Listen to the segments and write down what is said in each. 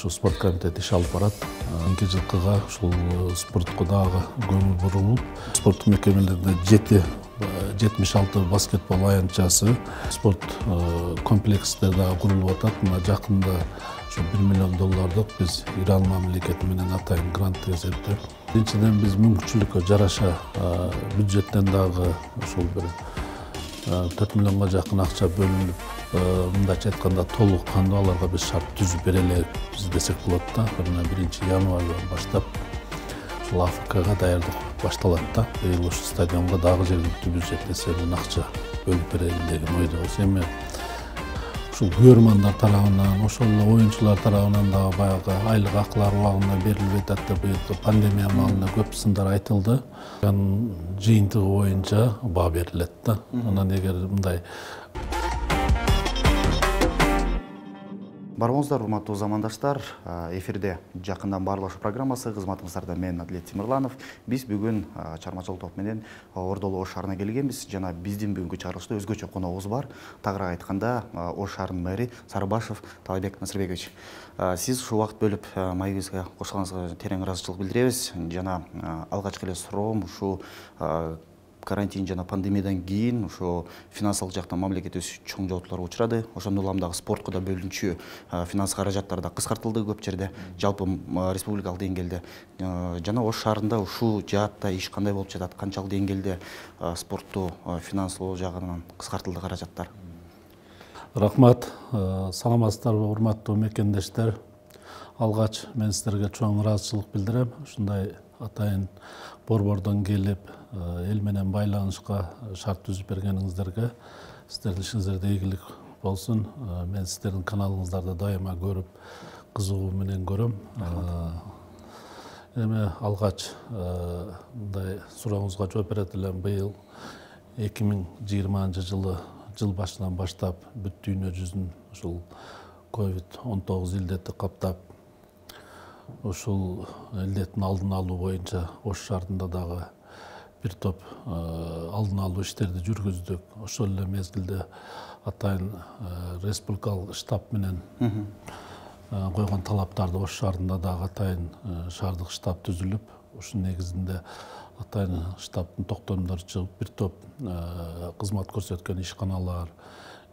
ушу спорт комитети иш алып барат. Кийинки жылкыга ушул спортко дагы көңүл бурулуп, спорттук мекемелерде 76 баскетбол аянтчасы, спорт комплекстер дагы курулуп атат. Мына жакында ушу $1 миллион биз Иран мамлекети менен атайын грант эсепте. Биринчиден биз мүмкүнчүлүккө жараша бюджеттен дагы ушул бир 4 миллионго жакын акча бөлүнүп, мындайча айтканда толук кандуу аларга биз шарт түзүп бере элекпиз десек болот да. 1 январдан баштап ушул АФКга даярдык башталат да. Быйыл ушу стадионго дагы жергиликтүү бюджет эсебинен акча бөлүп берели деген ойдобуз. Эми ушул көрөрмандар тарабынан, ошол эле оюнчулар тарабынан дагы баягы айлык акылар убагында берилбей атат деп быйылкы пандемия маалында көп сындар айтылды. Анын жыйынтыгы боюнча баа берилет да. Анан эгер мындай Барыңыздар, урматтуу замандаштар. Эфирде жакындан баарлашуу программасы, кызматыңыздарда мен Адлет Тимирланов. Биз бүгүн чармачылык топ менен Ордолу Ош шаарына келгенбиз. Жана биздин бүгүнкү чыгарылышта өзгөчө коногубуз бар. Тагыраак айтканда, Ош шаарынын мэри Сарыбашев Талайбек Насырбекович. Сиз ушул убакыт бөлүп маегибизге кошулганыңызга терең ыраазычылык билдиребиз. Жана алгачкы эле суроом ушул карантин жана пандемиядан кийин ошо финансылык жактан мамлекетибиз чоң жоготууларга учурады. Ошондой улам дагы спортко да бөлүнчү финанс каражаттар да кыскартылды көп жерде, жалпы республикалык деңгээлде. Жана Ош шаарында ушул жаатта иш кандай болуп жатат? Канчалык деңгээлде спортту финанслоо жагынан кыскартылды каражаттар? Рахмат, саламатсыздарбы урматтуу мекендештер. Алгач мен сиздерге чоң ыраазычылык билдирем. Ушундай атайын борбордон келип, эл менен байланышка шарт түзүп бергениңиздерге сиздердин ишиңиздерде ийгилик болсун. Мен сиздердин каналыңыздарды дайыма көрүп, кызыгуу менен көрөм. Эми алгач мындай сурооңузга жооп берет элем. Быйыл 2020 жыл башынан баштап бүт дүйнө жүзүн ушул COVID-19 илдети каптап, ушул илдеттин алдын алуу боюнча Ош шаарында дагы бир топ алдын алуу иштерди жүргүздүк. Ошол эле мезгилде атайын республикалык штаб менен койгон талаптарды Ош шаарында дагы атайын шаардык штаб түзүлүп, ушунун негизинде атайын штабтын токтомдору чыгып, бир топ кызмат көрсөткөн ишканалар,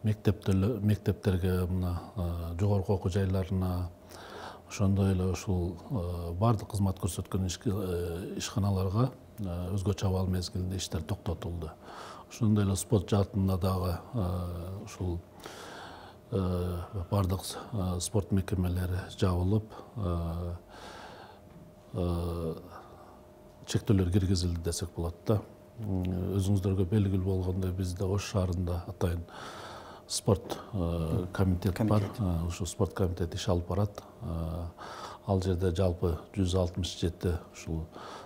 мектептерге, мына жогорку окуу жайларына, ошондой эле ушул бардык кызмат көрсөткөн ишканаларга өзгөчө абал мезгилинде иштер токтотулду. Ошондой эле спорт жаатында дагы ушул бардык спорт мекемелери жабылып, чектөөлөр киргизилди десек болот да. Өзүңүздөргө белгилүү болгондой, бизде Ош шаарында атайын спорт комитет бар. Ушу спорт комитети иш алып барат. Ал жерде жалпы 167 ушул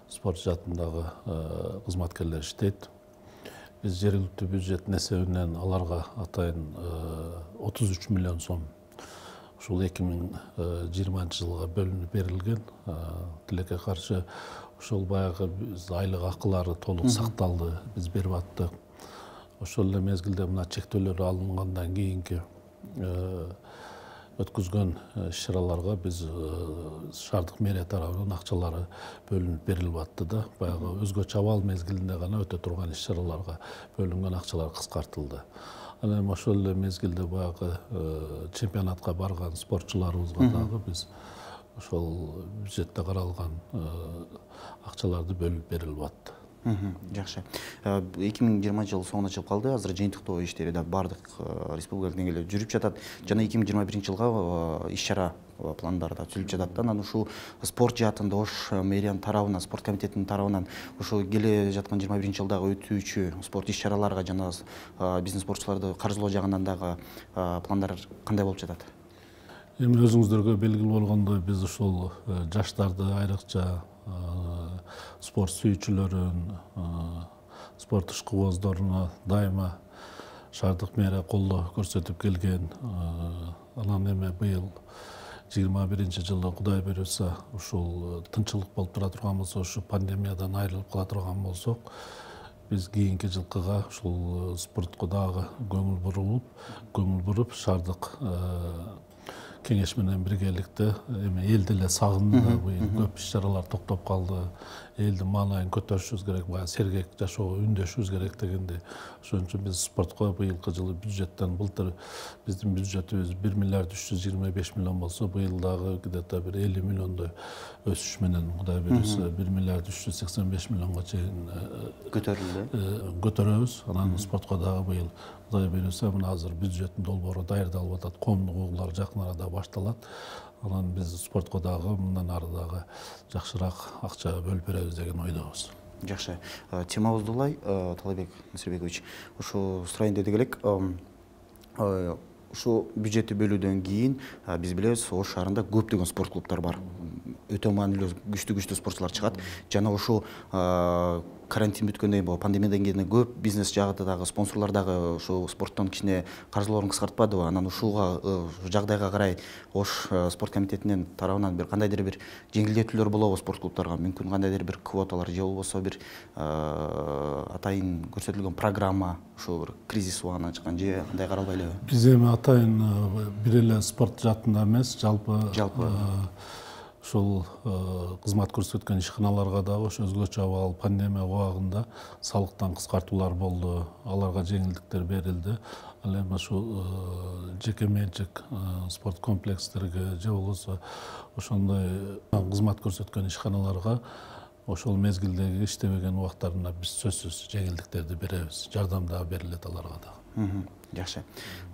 спорт жаатындагы кызматкерлер иштейт. Биз жергиликтүү бюджеттин эсебинен аларга атайын 33 миллион сом ушул 2020 жылга бөлүнүп берилген. Тилекке каршы ошол баягы айлык акылары толук сакталды, биз берип аттык. Ошол эле мезгилде мына чектөөлөр алынгандан кийинки өткүзгөн иш-чараларга биз шаардык мэрия тарабынан акчалары бөлүнүп берилип атты да. Баягы өзгөчө абал мезгилинде гана өтө турган иш-чараларга бөлүнгөн акчалар кыскартылды. Анан ошол эле мезгилде баягы чемпионатка барган спортчуларыбызга дагы биз ошол бюджетте каралган акчаларды бөлүп берилип атты. Жакшы. 2020 жыл соңуна чыгып калды. Азыр жыйынтыктоо иштери да бардык республикалык деңгээлде жүрүп жатат. Жана 2021 жылга иш-чара пландары да түзүлүп жатат. Анан ушул спорт жаатында Ош мэриянын тарабынан, спорт комитетинин тарабынан ушул келе жаткан 21 жылдагы өтүүчү спорт иш-чараларга жана биздин спортчуларды каржылоо жагынан дагы пландар кандай болуп жатат? Эми өзүңүздөргө белгилүү болгондой, биз ушул жаштарды айрыкча спорт сүйүүчүлөрүн, спорт ишкыбоздоруна дайыма шаардык мэрия колдоо көрсөтүп келген. Анан эми быйыл 21 жылы Кудай буйруса ушул тынчылык болуп тура турган болсо, ушу пандемиядан айрылып кала турган болсок, биз кийинки жылкыга ушул спортко дагы көңүл буруп, шаардык кеңеш менен биргеликте эми элди эле сагынды, быйыл көп иш-чаралар токтоп калды. Элдин маанайын көтөрүшүбүз керек, баягы сергек жашоого үндөшүбүз керек дегенде. Ошон үчүн биз спортко быйылкы жылы бюджеттен, былтыр биздин бюджетибиз 1 миллиард 325 миллион болсо, быйыл дагы где-то бир 50 миллиондой өсүш менен, Кудай буйруса, 1 миллиард 385 миллионго чейин көтөрөбүз. Анан спортко дагы быйыл Кудай буйруса, мына азыр бюджеттин долбоору даярдалып атат, коомдук угуулар жакын арада башталат. Анан биз спортко дагы мындан ары дагы жакшыраак акча бөлүп беребиз деген ойдобуз. Жакшы. Темабызды улай, Талайбек Насирбекович, ушу сурайын дедик элек. Ушу бюджетти бөлүүдөн кийин биз билебиз, Ош шаарында көптөгөн спорт клубтар бар. Өтө маанилүү күчтүү спортчулар чыгат. Жана ушу карантин бүткөндөн кийин, пандемиядан кийин көп бизнес жагында дагы спонсорлор дагы ушу спорттон кичине каржылоорун кыскартпадыбы? Анан ушуга жагдайга карай Ош спорт комитетинин тарабынан бир кандайдыр бир жеңилдетүүлөр болобу спорт клубтарга? Мүмкүн кандайдыр бир квоталар же болбосо бир атайын көрсөтүлгөн программа ушу бир кризис убагынан чыккан же кандай каралбай элеби? Биз эми атайын бир эле спорт жаатында эмес, жалпы ушул кызмат көрсөткөн ишканаларга дагы ошо өзгөчө абал пандемия убагында салыктан кыскартуулар болду, аларга жеңилдиктер берилди. Ал эми ушул жеке менчик спорт комплекстерге же болбосо ошондой кызмат көрсөткөн ишканаларга ошол мезгилдеги иштебеген убактарына биз сөзсүз жеңилдиктерди беребиз, жардам дагы берилет аларга дагы. Жакшы.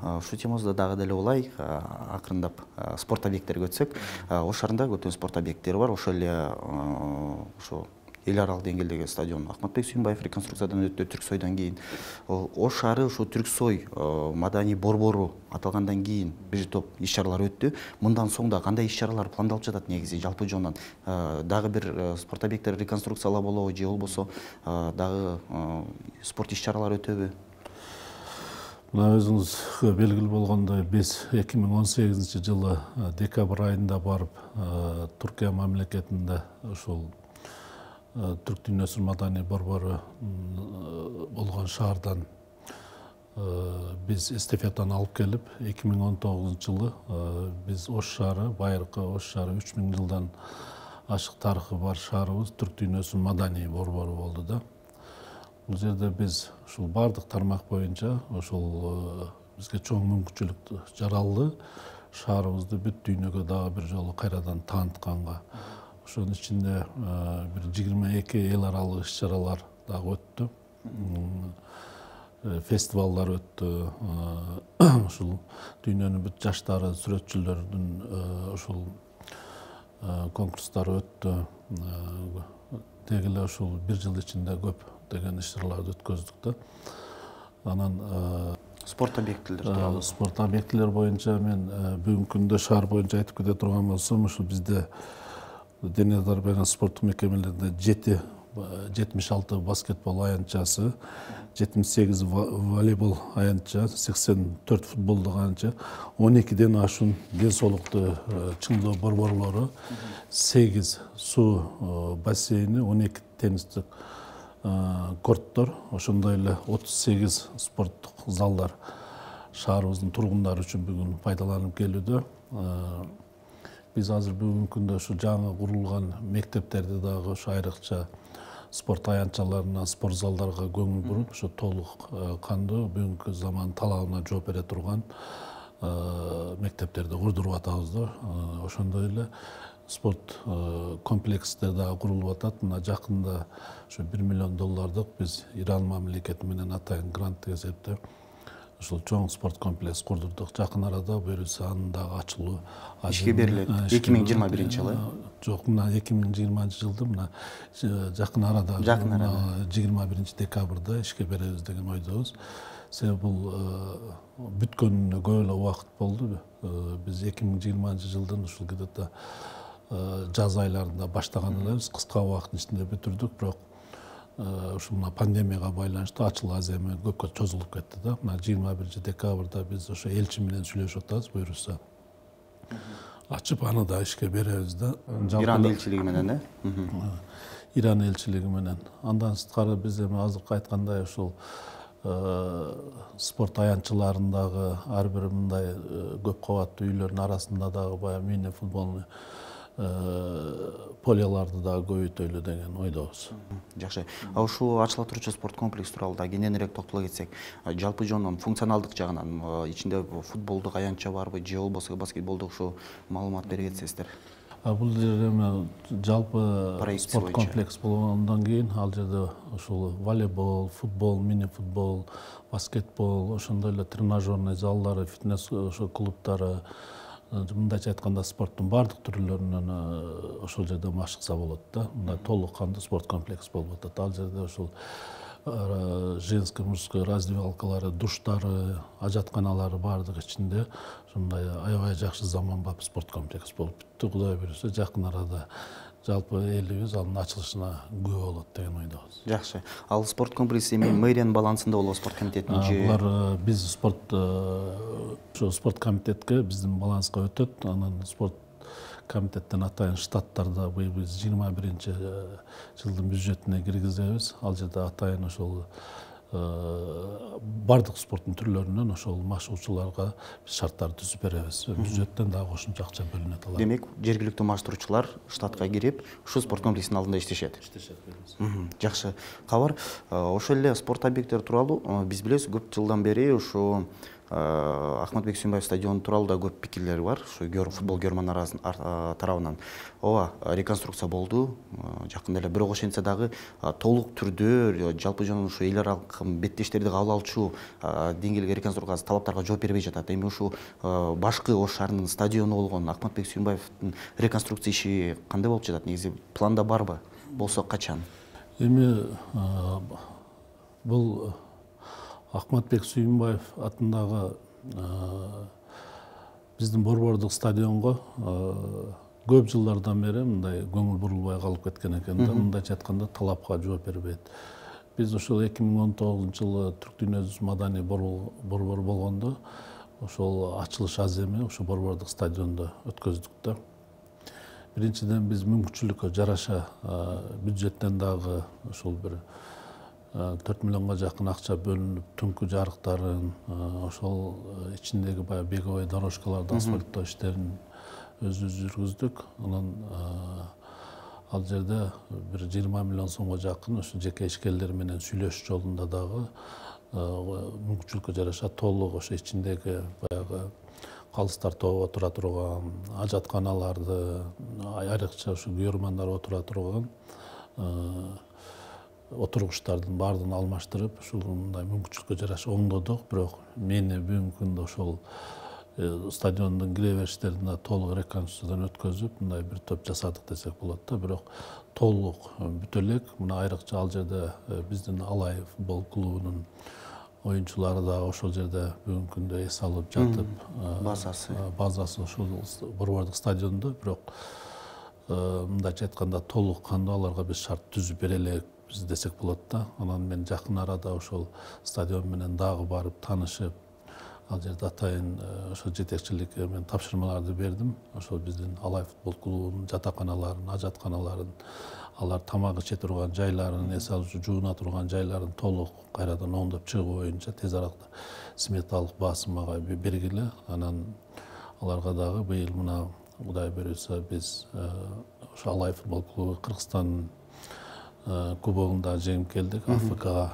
Ушул темабызда дагы деле улай, акырындап спорт объекттерине өтсөк, Ош шаарында көптөгөн спорт объекттери бар. Ошол эле ошо эл аралык деңгээлдеги стадион Ахматбек Сүйүнбаев реконструкциядан өттү, Түрксойдон кийин. Ош шаары ушу Түрксой маданий борбору аталгандан кийин бир топ иш-чаралар өттү. Мындан соң да кандай иш-чаралар пландалып жатат негизи жалпы жонунан? Дагы бир спорт объекттери реконструкциялап болобу же болбосо дагы спорт иш-чаралар өтөбү? Мына өзүңүзгө белгилүү болгондой, биз 2018 жылы декабрь айында барып, Туркия мамлекетинде ушул Түрк дүйнөсүнүн маданий борбору болгон шаардан биз эстафетаны алып келип, 2019 жылы биз Ош шаары, байыркы Ош шаары 3000 жылдан ашык тарыхы бар шаарыбыз Түрк дүйнөсүнүн маданий борбору болду да. Бул жерде биз ушул бардык тармак боюнча ошол бизге чоң мүмкүнчүлүк жаралды. Шаарыбызды бүт дүйнөгө дагы бир жолу кайрадан таанытканга. Ошонун ичинде бир 22 эл аралык иш-чаралар дагы өттү. Фестивалдар өттү. Ушул дүйнөнүн бүт жаштары, сүрөтчүлөрдүн ушул конкурстары өттү. Деги эле ушул бир жыл ичинде көп деген иш-чараларды өткөздүк да. Анан спорт объектилер спорт объектилер боюнча мен бүгүнкү күндө шаар боюнча айтып кете турган болсом, ушул бизде дене дарбы спорттук мекемелерде 76 баскетбол аянтчасы, 78 волейбол аянтча, 84 футболдук аянтча, 12ден ашуун ден соолукту чыңдоо борборлору, 8 суу бассейни, 12 теннистик корттор, ошондой эле 38 спорттук залдар шаарыбыздын тургундары үчүн бүгүн пайдаланып келүүдө. Биз азыр бүгүнкү күндө ушу жаңы курулган мектептерди дагы ушу айрыкча спорт аянтчаларына, спорт залдарга көңүл буруп, ушу толук кандуу бүгүнкү заман талабына жооп бере турган мектептерди курдуруп атабыз да. Ошондой эле спорт комплекстер дагы курулуп атат. Мына жакында ушу $1 миллион биз Иран мамлекети менен атайын гранттык эсепте ушул чоң спорт комплекс курдурдук. Жакын арада буюрса анын дагы ачылуу ишке берилет. 2021-жылы. Жок, мына 2020-жылды мына жакын арада 21 декабрда ишке беребиз деген ойдобуз. Себеби бул бүткөнүнө көп эле убакыт болду. Биз 2020-жылдын ушул где-то жаз айларында баштаган элебиз, кыска убакыттын ичинде бүтүрдүк, бирок ушул мына пандемияга байланыштуу ачыл аз эми көпкө чозулуп кетти да. Мына 21 декабрда биз ошо элчи менен сүйлөшүп атабыз, буюрса ачып аны да ишке беребиз да. Иран элчилиги менен, Иран элчилиги менен. Андан сырткары биз эми азыркы айткандай ушул спорт аянтчыларындагы ар бир мындай көп кабаттуу үйлөрдүн арасында дагы баягы мини футболный поляларды дагы көбөйтөлү деген ойдобуз. Жакшы. Ушул ачыла турчу спорт комплекси тууралуу да кененирээк токтоло кетсек, жалпы жонунан функционалдык жагынан ичинде футболдук аянтча барбы же болбосо баскетболдук ушу маалымат бере кетсеңиздер? Бул жерде эми жалпы спорт комплекс болгондон кийин ал жерде ушул волейбол, футбол, мини футбол, баскетбол, ошондой эле тренажерный залдары, фитнес клубдары, мындайча айтканда спорттун баардык түрлөрүнөн ошол жерде машыкса болот да. Мындай толук кандуу спорт комплекс болуп атат. Ал жерде ушул женский, мужской раздевалкалары, душтары, ажатканалары баардыгы ичинде ушундай аябай жакшы заманбап спорт комплекс болуп бүттү. Кудай буюрса жакын арада жалпы элибиз анын ачылышына күбө болот деген ойдобуз. Жакшы. Ал спорт комплекси эми мэриянын балансында болобу, спорт комитетинин же? Булар биз спорт комитетке биздин баланска өтөт. Анан спорт комитеттен атайын штаттарда быйыл биз 21-жылдын бюджетине киргизебиз. Ал жерде атайын ошол бардык спорттун түрлөрүнөн ошол машыгуучуларга биз шарттарды түзүп беребиз. Бюджеттен дагы кошумча акча бөлүнөт алар. Демек, жергиликтүү маштыруучулар штатка кирип, ушул спорт комплексинин алдында иштешет. Жакшы. Кабар, ошол эле спорт объекттери тууралуу биз билебиз, көп жылдан бери ушу Ахматбек Сүйүнбаев стадиону тууралуу да көп пикирлер бар, ушу футбол көрөрман тарабынан. Ооба, реконструкция болду жакында эле, бирок ошентсе дагы толук түрдө жалпы жана ушу эл аралык беттештерди кабыл алчу деңгээлге реконструкция талаптарга жооп бербей жатат. Эми ушу башкы Ош шаарынын стадиону болгон Ахматбек Сүйүнбаевдин реконструкция иши кандай болуп жатат? Негизи планда барбы? Болсо качан? Эми бул Ахматбек Сүйүнбаев атындагы биздин борбордук стадионго көп жылдардан бери мындай көңүл бурулбай калып кеткен экен да. Мындайча айтканда талапка жооп бербейт. Биз ошол 2019-жылы Түрк дүйнөсү маданий борбор болгондо ошол ачылыш аземи ошо борбордук стадиондо өткөздүк да. Биринчиден биз мүмкүнчүлүккө жараша бюджеттен дагы ошол бир 4 миллионго жакын акча бөлүнүп, түнкү жарыктарын, ошол ичиндеги баягы беговой дорожкаларды асфальттоо иштерин өзүбүз жүргүздүк. Анан ал жерде бир 20 миллион сомго жакын ошо жеке ишкерлер менен сүйлөшүү жолунда дагы мүмкүнчүлүккө жараша толук ошо ичиндеги баягы калыстар тобу отура турган, ажатканаларды, айрыкча ушу күйөрмандар отура турган отургучтардын баардыгын алмаштырып, ушул мындай мүмкүнчүлүккө жараша оңдодук. Бирок мени бүгүнкү күндө ошол стадиондун кире бериштерин толук реконструкциядан өткөзүп, мындай бир топ жасадык десек болот да. Бирок толук бүтө элек. Мына айрыкча ал жерде биздин Алай футбол клубунун оюнчулары да ошол жерде бүгүнкү күндө эс алып жатып, базасы ошол борбордук стадиондо. Бирок мындайча айтканда толук кандуу аларга биз шарт түзүп бере элек десек болот да. Анан мен жакын арада ошол стадион менен дагы барып таанышып, ал жерде атайын ошол жетекчиликке мен тапшырмаларды бердим. Ошол биздин Алай футбол клубунун жатаканаларын, ажатканаларын, алар тамак иче турган жайларын, эс алуучу жууна турган жайларын толук кайрадан оңдоп чыгуу боюнча тез арада сметалык баасы мага бергиле. Анан аларга дагы быйыл мына Кудай буюрса биз ошо Алай футбол клубу Кыргызстандын кубогунда жеңип келдик. АФКга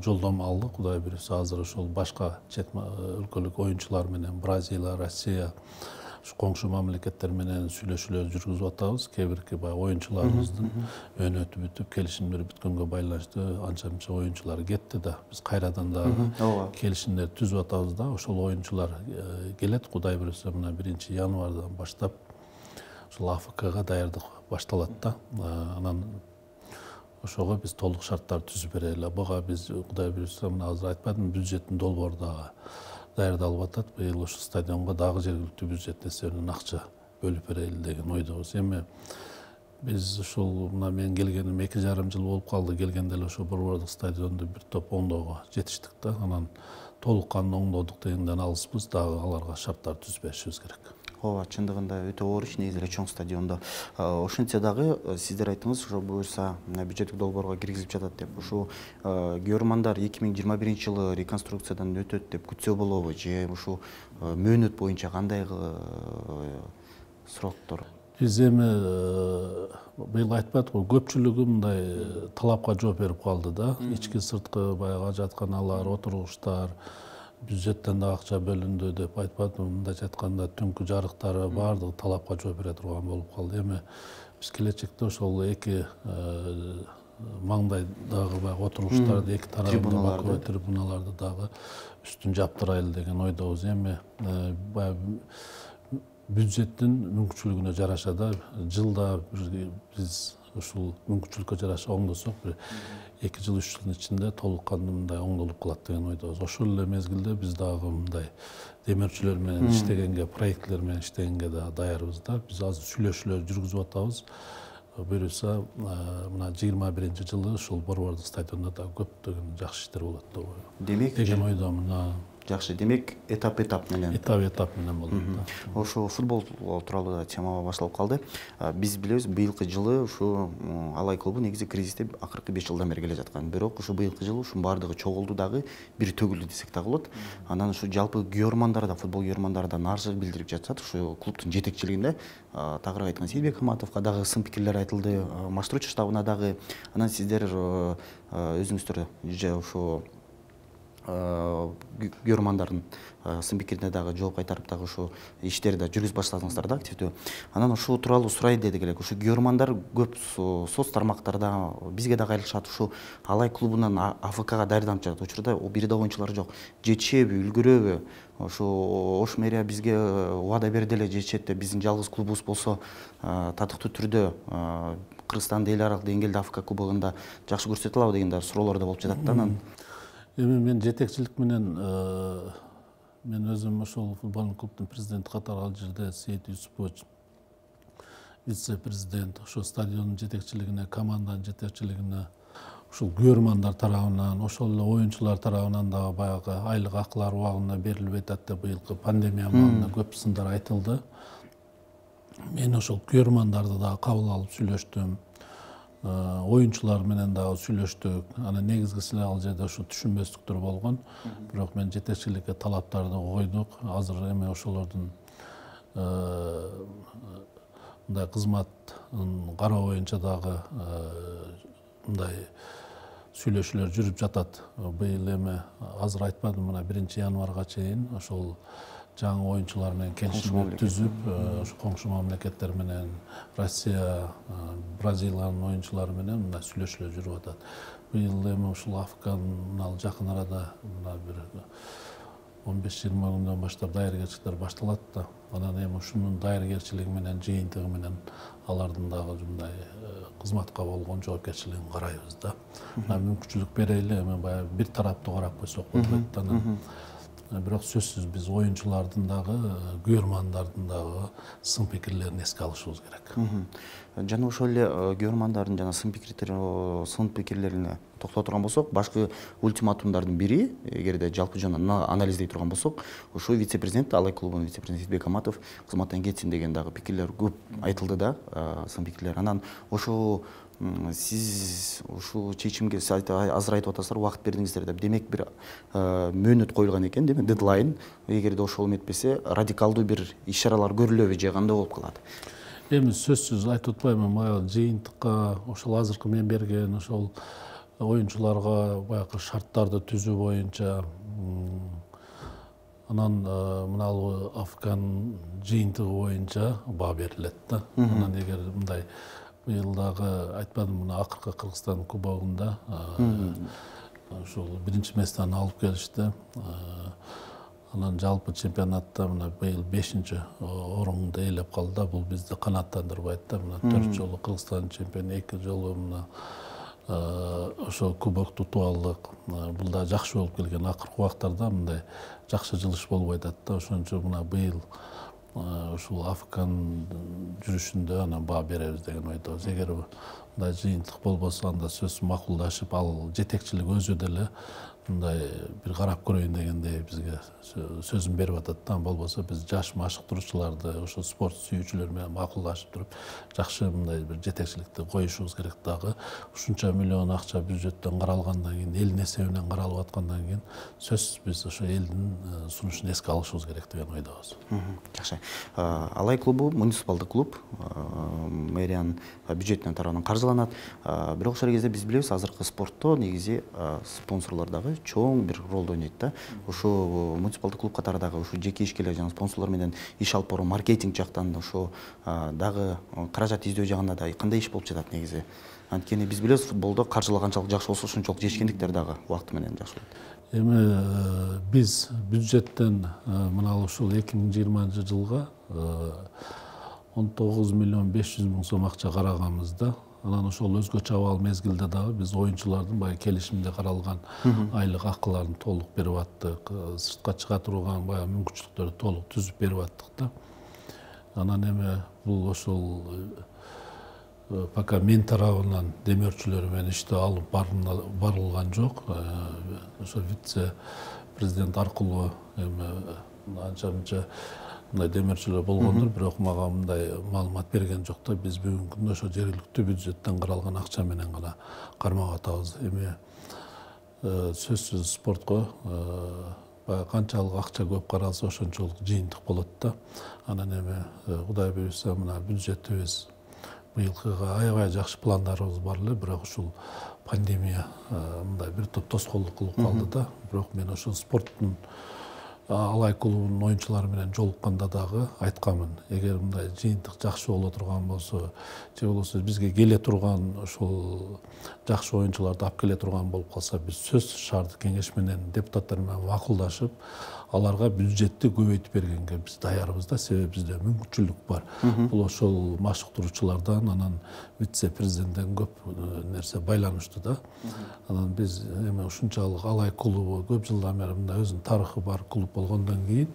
жолдомо алдык. Кудай буюрса азыр ошол башка чет өлкөлүк оюнчулар менен Бразилия, Россия, коңшу мамлекеттер менен сүйлөшүүлөр жүргүзүп атабыз. Кээ бирки баягы оюнчуларыбыздын өнөтү бүтүп, келишимдер бүткөнгө байланыштуу анча мынча оюнчулар кетти да. Биз кайрадан дагы келишимдер түзүп атабыз да. Ошол оюнчулар келет. Кудай буюрса мына 1-январдан баштап ошол АФКга даярдык башталат да. Анан ошого биз толук шарттар түзүп берели. Буга биз Кудай буюрса мына азыр айтпадым, бюджеттин долбоору дагы даярдалып атат. Быйыл ошол стадионго дагы жергиликтүү бюджет эсебинен акча бөлүп берели деген ойдобуз. Эми биз ушул мына мен келгеним 2,5 жыл болуп калды. Келгенде эле ошол борбордук стадионду бир топ оңдоого жетиштик да. Анан толук кандуу оңдодук дегенден алыспыз. Дагы аларга шарттар түзүп беришибиз керек. ооба, чындыгында өтө оор иш, негизи эле чоң стадиондо. Ошентсе дагы сиздер айттыңыз, ошо буюрса бюджеттик долбоорго киргизилип жатат деп. Ушу Геормандар 2021-жылы реконструкциядан өтөт деп күтсө болобу, же ушу мөөнөт боюнча кандай сроктор? Биз эми быйыл айтпадык, көпчүлүгү мындай талапка жооп берип калды да. Ички сырткы баягы ажатканалар, отургучтар, бюджеттен да акча бөлүндү деп айтпадым. Мындайча айтканда түнкү жарыктары баардыгы талапка жооп бере турган болуп калды. Эми биз келечекте ошол эки маңдайдагы баягы отургучтарды эки тарабында трибуналарды дагы үстүн жаптырайлы деген ойдобуз. Эми баягы бюджеттин мүмкүнчүлүгүнө жараша да жылда биз ушул мүмкүнчүлүккө жараша оңдосок, бир 2 жыл 3 жылдын ичинде толук кандуу мындай оңдолуп калат деген ойдобуз. Ошол эле мезгилде биз дагы мындай демөөрчүлөр менен иштегенге, проектлер менен иштегенге да даярбыз да. Биз азыр сүйлөшүүлөр жүргүзүп атабыз. Буюрса, мына 21-жылы ушул Борбордук стадиондо да көптөгөн жакшы иштер болот деп демек деген ойдомун. Жакшы, демек этап менен. Этап менен болот. Ошо футбол тууралуу да тема башталып калды. Биз билебиз, быйылкы жылы ушу Алай клубу негизи кризисте акыркы 5 жылдан бери келе жаткан. Бирок ушу быйылкы жылы ушунун баардыгы чогулду дагы, бир төгүлдү десек да болот. Анан ушу жалпы Геормандар да, футбол Геормандар да нааразычылык билдирип жатышат. Ушу клубтун жетекчилигинде тагыраак айтканда Сейитбек Хаматовго дагы сын пикирлер айтылды, Маштруч штабына дагы. Анан сиздер өзүңүздөр ушу Геормандардын сын пикирине дагы жооп кайтарып дагы ушу иштерди да жүргүзүп баштадыңыздар да активдүү. Анан ушул тууралуу сурай дедик элек. Ушу Геормандар көп соц тармактарда бизге дагы кайрылышат. Ушу Алай клубунан АФКга даярданып жатат учурда бир да оюнчулар жок. Жетишеби, үлгүрөбү? Ушу Ош мэрия бизге убада берди эле, жетишет деп. Биздин жалгыз клубубуз болсо татыктуу түрдө Кыргызстандын эл аралык деңгээлде АФК кубогунда жакшы көрсөтө алабы деген суроолор да болуп жатат да. Анан эми мен жетекчилик менен мен өзүм ошол футболдук клубдун президенти катары ал жерде Сейит Юсупович вице-президент, ошол стадиондун жетекчилигине, команданын жетекчилигине, ушул Геормандар тарабынан, ошол эле оюнчулар тарабынан дагы баягы айлык акылар убагында берилбей атат деп быйылкы пандемия маалында көп сындар айтылды. Мен ошол Геормандарды дагы кабыл алып сүйлөштүм. Оюнчулар менен дагы сүйлөштүк. Анан негизгиси ал жерде ушу түшүнбөстүктөр болгон. Бирок мен жетекчиликке талаптарды койдук. Азыр эми ошолордун мындай кызматын кароо боюнча дагы мындай сүйлөшүүлөр жүрүп жатат. Быйыл эми азыр айтпадым, мына 1-январга чейин ошол жаңы оюнчулар менен келишим түзүп, ошо коңшу мамлекеттер менен Россия, Бразилиянын оюнчулары менен мындай сүйлөшүүлөр жүрүп атат. Быйыл эми ушул АФКнын жакын арада мына бир 15-20 күндөн баштап даяргерчиликтер башталат да. Анан эми ушунун даяргерчилиги менен, жыйынтыгы менен алардын дагы мындай кызматка болгон жоопкерчилигин карайбыз да. Мүмкүнчүлүк берели, эми баягы бир тараптуу карап койсок болбойт да. Бирок сөзсүз биз оюнчулардын дагы, Геормандардын дагы сын пикирлерин эске алышыбыз керек. Жана ошол эле Геормандардын жана сын пикирлерине токтоло турган болсок, башкы ультиматумдардын бири, эгерде жалпы жана анализдей турган болсок, ушу вице-президент, Алай клубунун вице-президенти Сейитбек Хаматов кызматтан кетсин деген дагы пикирлер көп айтылды да, сын пикирлер. Анан ошо сиз ушул чечимге азыр айтып атасыздар, убакыт бердиңиздер деп. Демек бир мөөнөт коюлган экен, демек дедлайн. Эгерде ошол эметпесе, радикалдуу бир иш-чаралар көрүлөбү же кандай болуп калат? Эми сөзсүз айтып атпаймынбы, баягы жыйынтыкка ошол азыркы мен берген ошол оюнчуларга баягы шарттарды түзүү боюнча анан мына АФКнын жыйынтыгы боюнча баа берилет да. Анан эгер мындай быйыл дагы айтпадым, мына акыркы Кыргызстан кубогунда ушул биринчи местени алып келишти. Анан жалпы чемпионатта мына быйыл 5-орунду ээлеп калды. Бул бизди канааттандырбайт да. Мына 4 жолу Кыргызстан чемпиону, 2 жолу мына ошо кубок тутуп алдык. Бул да жакшы болуп келген. Акыркы убактарда мындай жакшы жылыш болбой атат да. Ошон үчүн мына быйыл ушул АФКнын жүрүшүндө анан баа беребиз деген ойдобуз. Эгер мындай жыйынтык болбосо, анда сөзсүз макулдашып, ал жетекчилик өзү деле мындай бир карап көрөйүн дегендей бизге сөзүн берип атат да. Болбосо биз жаш машыктыруучуларды ошо спорт сүйүүчүлөр менен макулдашып туруп жакшы мындай бир жетекчиликти коюшубуз керек дагы. Ушунча миллион акча бюджеттен каралгандан кийин, элдин эсебинен каралып аткандан кийин сөзсүз биз ошо элдин сунушун эске алышыбыз керек деген ойдобуз. Жакшы. Алай клубу муниципалдык клуб, мэриянын бюджетинен тарабынан каржыланат. Бирок ошол кезде биз билебиз, азыркы спортто негизи спонсорлор дагы чоң бир ролду ойнойт да. Ошо муниципалдык клуб катары дагы ушу жеке ишкерлер жана спонсорлор менен иш алып баруу, маркетинг жактан ошо дагы каражат издөө жагында да кандай иш болуп жатат негизи? Анткени биз билебиз, футболдо каржылоо канчалык жакшы болсо, ошончолук жешкендиктер дагы убакыт менен жакшы болот. Эми биз бюджеттен мына ушул 2020-жылга 19 миллион 500 миң сом акча караганбыз да. Анан ошол өзгөчө абал мезгилде дагы биз оюнчулардын баягы келишимде каралган айлык акыларын толук берип аттык, сыртка чыга турган баягы мүмкүнчүлүктөрдү толук түзүп берип аттык да. Анан эми бул ошол пока мен тарабынан демөөрчүлөр менен иштөө алып барылган жок. Ошо вице президент аркылуу эми анча-мынча мындай демөөрчүлөр болгондур, бирок мага мындай маалымат берген жок да. Биз бүгүнкү күндө ошо жергиликтүү бюджеттен каралган акча менен гана кармап атабыз. Эми сөзсүз спортко баягы канчалык акча көп каралса, ошончолук жыйынтык болот да. Анан эми Кудай буйруса мына бюджетибиз быйылкыга аябай жакшы пландарыбыз бар эле, бирок ушул пандемия мындай бир топ тоскоолдук кылып калды да. Бирок мен ошо спорттун Алай клубунун оюнчулары менен жолукканда дагы айтканмын. Эгер мындай жыйынтык жакшы боло турган болсо, же болбосо бизге келе турган ошол жакшы оюнчуларды алып келе турган болуп калса, биз сөзсүз шаардык кеңеш менен депутаттар менен макулдашып, аларга бюджетти көбөйтүп бергенге биз даярбыз да. Себеби бизде мүмкүнчүлүк бар. Бул ошол машыктыруучулардан, анан вице президенттен көп нерсе байланыштуу да. Анан биз эми ушунчалык Алай клубу көп жылдан бери мындай өзүнүн тарыхы бар клуб болгондон кийин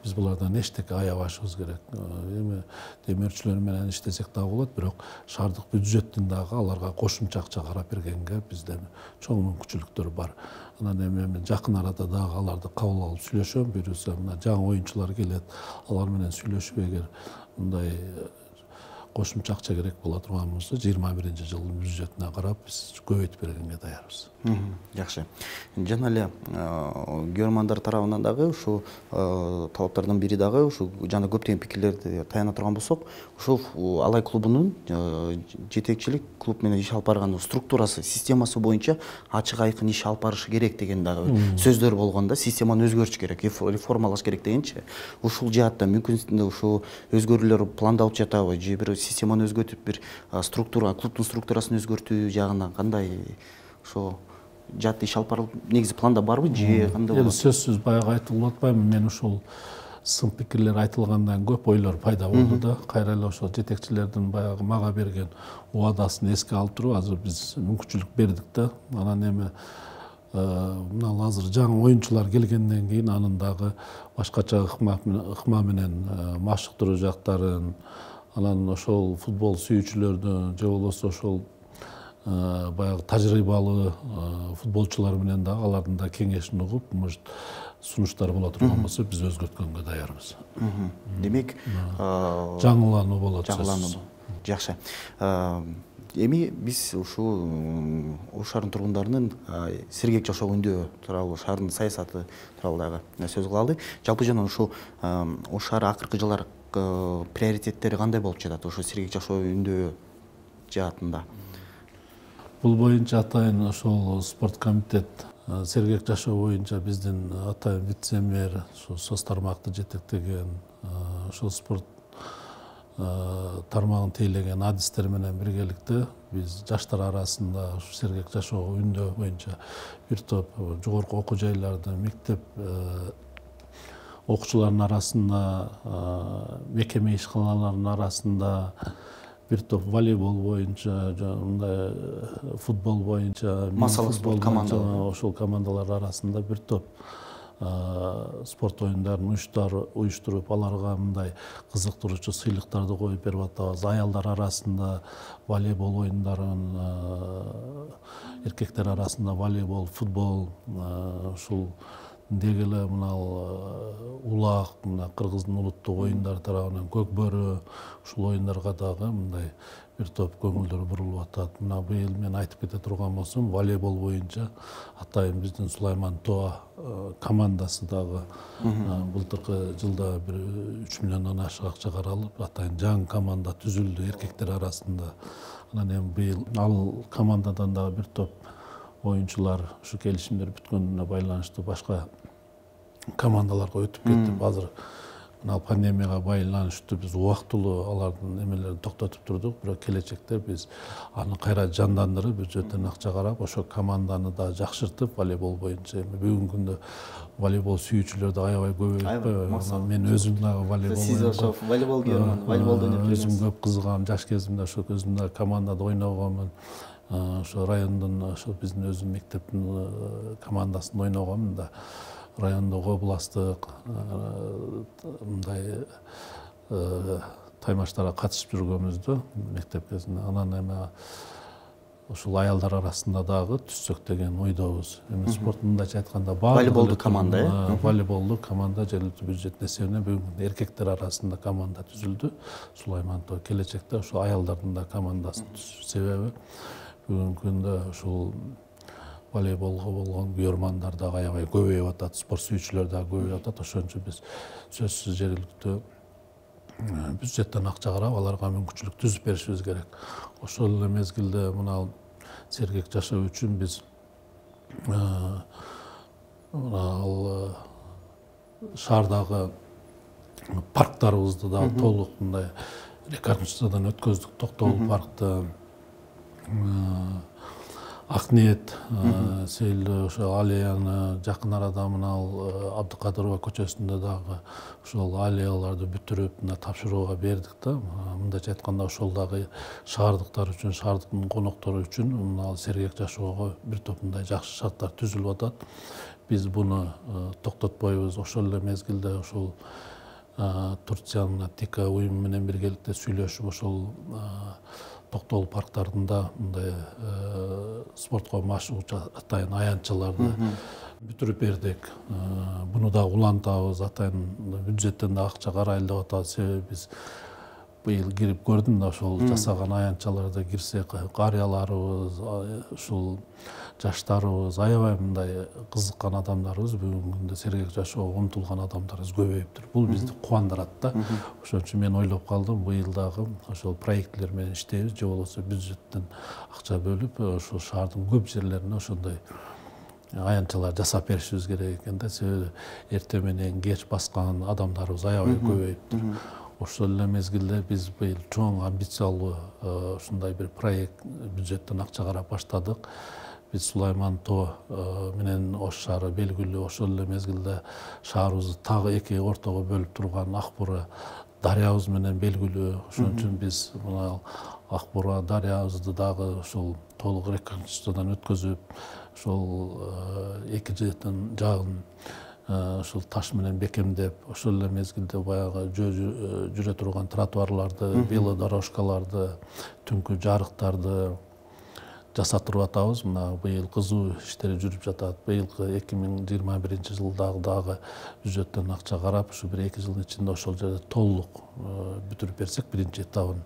биз булардан эчтеке аябашыбыз керек. Эми демөөрчүлөр менен иштесек дагы болот, бирок шаардык бюджеттин дагы аларга кошумча акча карап бергенге бизде чоң мүмкүнчүлүктөр бар. Анан эми жакын арада дагы аларды кабыл алып сүйлөшөм. Буюрса мына жаңы оюнчулар келет, алар менен сүйлөшүп, эгер мындай кошумча акча керек боло турган болсо, 21-жылдын бюджетине карап биз көбөйтүп бергенге даярбыз. Жакшы. Жана эле көрөрмандар тарабынан дагы ушу талаптардын бири дагы ушу жана көптөгөн пикирлерди таяна турган болсок, ушул Алай клубунун жетекчилик клуб менен иш алып барган структурасы, системасы боюнча ачык айкын иш алып барышы керек деген дагы сөздөр болгон да. Системаны өзгөртүш керек, реформалаш керек дегенчи. Ушул жаатта мүмкүн ушу өзгөрүүлөр пландалып жатабы, же бир системаны өзгөртүп бир структура, клубдун структурасын өзгөртүү жагынан кандай ошо жаатта иш алып барылып негизи планда барбы, же кандай болот? Сөзсүз баягы айтылып атпаймынбы, мен ушул сын пикирлер айтылгандан көп ойлор пайда болду да. Кайра эле ошол жетекчилердин баягы мага берген убадасын эске алып туруп, азыр биз мүмкүнчүлүк бердик да. Анан эми мына азыр жаңы оюнчулар келгенден кийин анын дагы башкача ыкма менен машыктыруу жактарын, анан ошол футбол сүйүүчүлөрдүн, же болбосо ошол баягы тажрыйбалуу футболчулар менен дагы алардын да кеңешин угуп, может сунуштар боло турган болсо, биз өзгөрткөнгө даярбыз. Демек, жаңылануу болот. Жаңылануу. Жакшы. Эми биз ушул Ош шаарынын тургундарынын сергек жашоо үндөө тууралуу, шаардын саясаты тууралуу дагы сөз кылалы. Жалпы жана ушул Ош шаары акыркы жылдар приоритеттери кандай болуп жатат ошо сергек жашоо үндөө жаатында? Бул боюнча атайын ошол спорт комитет сергек жашоо боюнча биздин атайын вице-мэр, СОС тармакты жетектеген, ошол спорт тармагын тейлеген адистер менен биргеликте биз жаштар арасында ушу сергек жашоо үндөө боюнча бир топ жогорку окуу жайлардын, мектеп окуучуларынын арасында, мекеме ишканаларынын арасында, бир топ волейбол боюнча, мындай футбол боюнча, массалык спорт командалары, ошол командалар арасында бир топ спорт оюндарын уюштуруп, аларга мындай кызыктыруучу сыйлыктарды коюп берип атабыз. Аялдар арасында волейбол оюндарын, эркектер арасында волейбол, футбол, ушул деги эле мына улак, мына Кыргыздын улуттук оюндары тарабынан көк бөрү, ушул оюндарга дагы мындай бир топ көңүлдөр бурулуп атат. Мына быйыл мен айтып кете турган болсом, волейбол боюнча атайын биздин Сулайман Тоа командасы дагы былтыркы жылда бир 3 миллиондон ашык акча каралып, атайын жаңы команда түзүлдү эркектер арасында. Анан эми быйыл ал командадан дагы бир топ оюнчулар ушу келишимдер бүткөнүнө байланыштуу башка командаларга өтүп кетип, азыр мына пандемияга байланыштуу биз убактылуу алардын эмелерин токтотуп турдук, бирок келечекте биз аны кайра жандандырып, бюджеттен акча карап, ошо команданы да жакшыртып, волейбол боюнча эми бүгүнкү күндө волейбол сүйүүчүлөр да аябай көбөйүп, мен өзүм дагы волейбол сиз ошо волейболго волейболду өзүм көп кызыгам, жаш кезимде ошо өзүм да командада ойногонмун. Ошо райондун, ошо биздин өзүм мектептин командасында ойногонмун да. Райондогу областтык мындай таймаштарга катышып жүргөнбүздү мектеп кезинде. Анан эми ушул аялдар арасында дагы түзсөк деген ойдобуз. Эми спорт мындайча айтканда волейболдук команда, волейболдук команда жергиликтүү бюджеттин эсебинен бүгүн эркектер арасында команда түзүлдү. Сулайман Тоо келечекте ошо аялдардын да командасын түзүп, себеби бүгүнкү күндө ушул волейболго болгон күйөрмандар дагы аябай көбөйүп атат, спорт сүйүүчүлөр дагы көбөйүп атат. Ошон үчүн биз сөзсүз жергиликтүү бюджеттен акча карап, аларга мүмкүнчүлүк түзүп беришибиз керек. Ошол эле мезгилде мына сергек жашоо үчүн биз ал шаардагы парктарыбызды дагы толук мындай реконструкциядан өткөздүк. Токтогул паркты, Акниет, Сейил ошо аллеяны жакын арада мына Абдыкадырова көчөсүндө дагы ошол аллеяларды бүтүрүп мына тапшырууга бердик да. Мындайча айтканда ошол дагы шаардыктар үчүн, шаардыктын коноктору үчүн мына сергек жашоого бир топ мындай жакшы шарттар түзүлүп атат. Биз буну токтотпойбуз. Ошол эле мезгилде ошол Турциянын ТИКА уюму менен биргеликте сүйлөшүп, ошол Токтогул парктарында мындай спортко машыгуучу атайын аянтчаларды бүтүрүп бердик. Буну да улантабыз, атайын бюджеттен да акча карайлы деп атабыз. Себеби биз быйыл кирип көрдүм да, ошол жасаган аянтчаларда кирсек, карыяларыбыз, ушул жаштарыбыз, аябай мындай кызыккан адамдарыбыз, бүгүнкү күндө сергек жашоого умтулган адамдарыбыз көбөйүптүр. Бул бизди кубандырат да. Ошон үчүн мен ойлоп калдым, быйыл дагы ошол проектлер менен иштейбиз, же болбосо бюджеттен акча бөлүп, ошол шаардын көп жерлерине ошондой аянтчалар жасап беришибиз керек экен да. Себеби эртең менен кеч баскан адамдарыбыз аябай көбөйүптүр. Ошол эле мезгилде биз быйыл чоң амбициялуу ушундай бир проект бюджеттен акча карап баштадык. Биз Сулайман Тоо менен Ош шаары белгилүү. Ошол эле мезгилде шаарыбызды тагы эки ортого бөлүп турган Акбура дарыябыз менен белгилүү. Ошон үчүн биз мына Акбура дарыябызды дагы ушул толук реконструкциядан өткөзүп, ошол эки жагын ушул таш менен бекемдеп, ошол эле мезгилде баягы жүрө турган тротуарларды, велодорожкаларды, түнкү жарыктарды жасатырып атабыз. Мына быйыл кызуу иштери жүрүп жатат. Быйылкы 2021 жылдагы дагы бюджеттен акча карап, ушу бир 2 жылдын ичинде ошол жерде толук бүтүрүп берсек, биринчи этабын.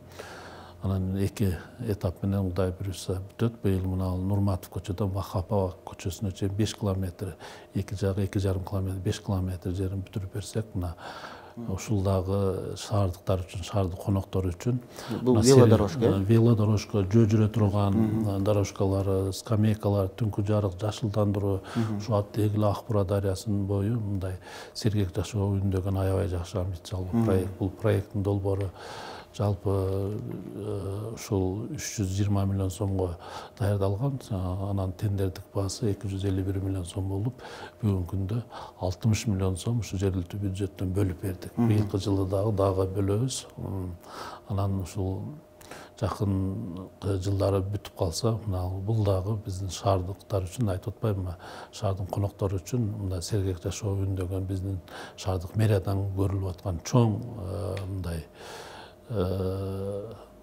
Анан эки этап менен Кудай буюрса бүтөт. Быйыл мына Нурматов көчөдөн Махапова көчөсүнө чейин 5 километр, эки жагы 2,5 километр, 5 километр жерин бүтүрүп берсек, мына ушул дагы шаардыктар үчүн, шаардык коноктор үчүн бул велодорожка, велодорожка, жүрө турган дорожкалар, скамейкалар, түнкү жарык, жашылдандыруу, ушу деги эле Акбура дарыясынын бою мындай сергек жашоо үндөгөн аябай жакшы амбициялуу проект. Бул проекттин долбоору жалпы ушул 320 миллион сомго даярдалган. Анан тендердик баасы 251 миллион сом болуп, бүгүнкү күндө 60 миллион сом ушу жергиликтүү бюджеттен бөлүп бердик. Быйылкы жылы дагы бөлөбүз. Анан ушул жакынкы жылдары бүтүп калса, мына бул дагы биздин шаардыктар үчүн, айтып атпайбынбы, шаардын коноктору үчүн мындай сергек жашоо үндөгөн биздин шаардык мэриядан көрүлүп аткан чоң мындай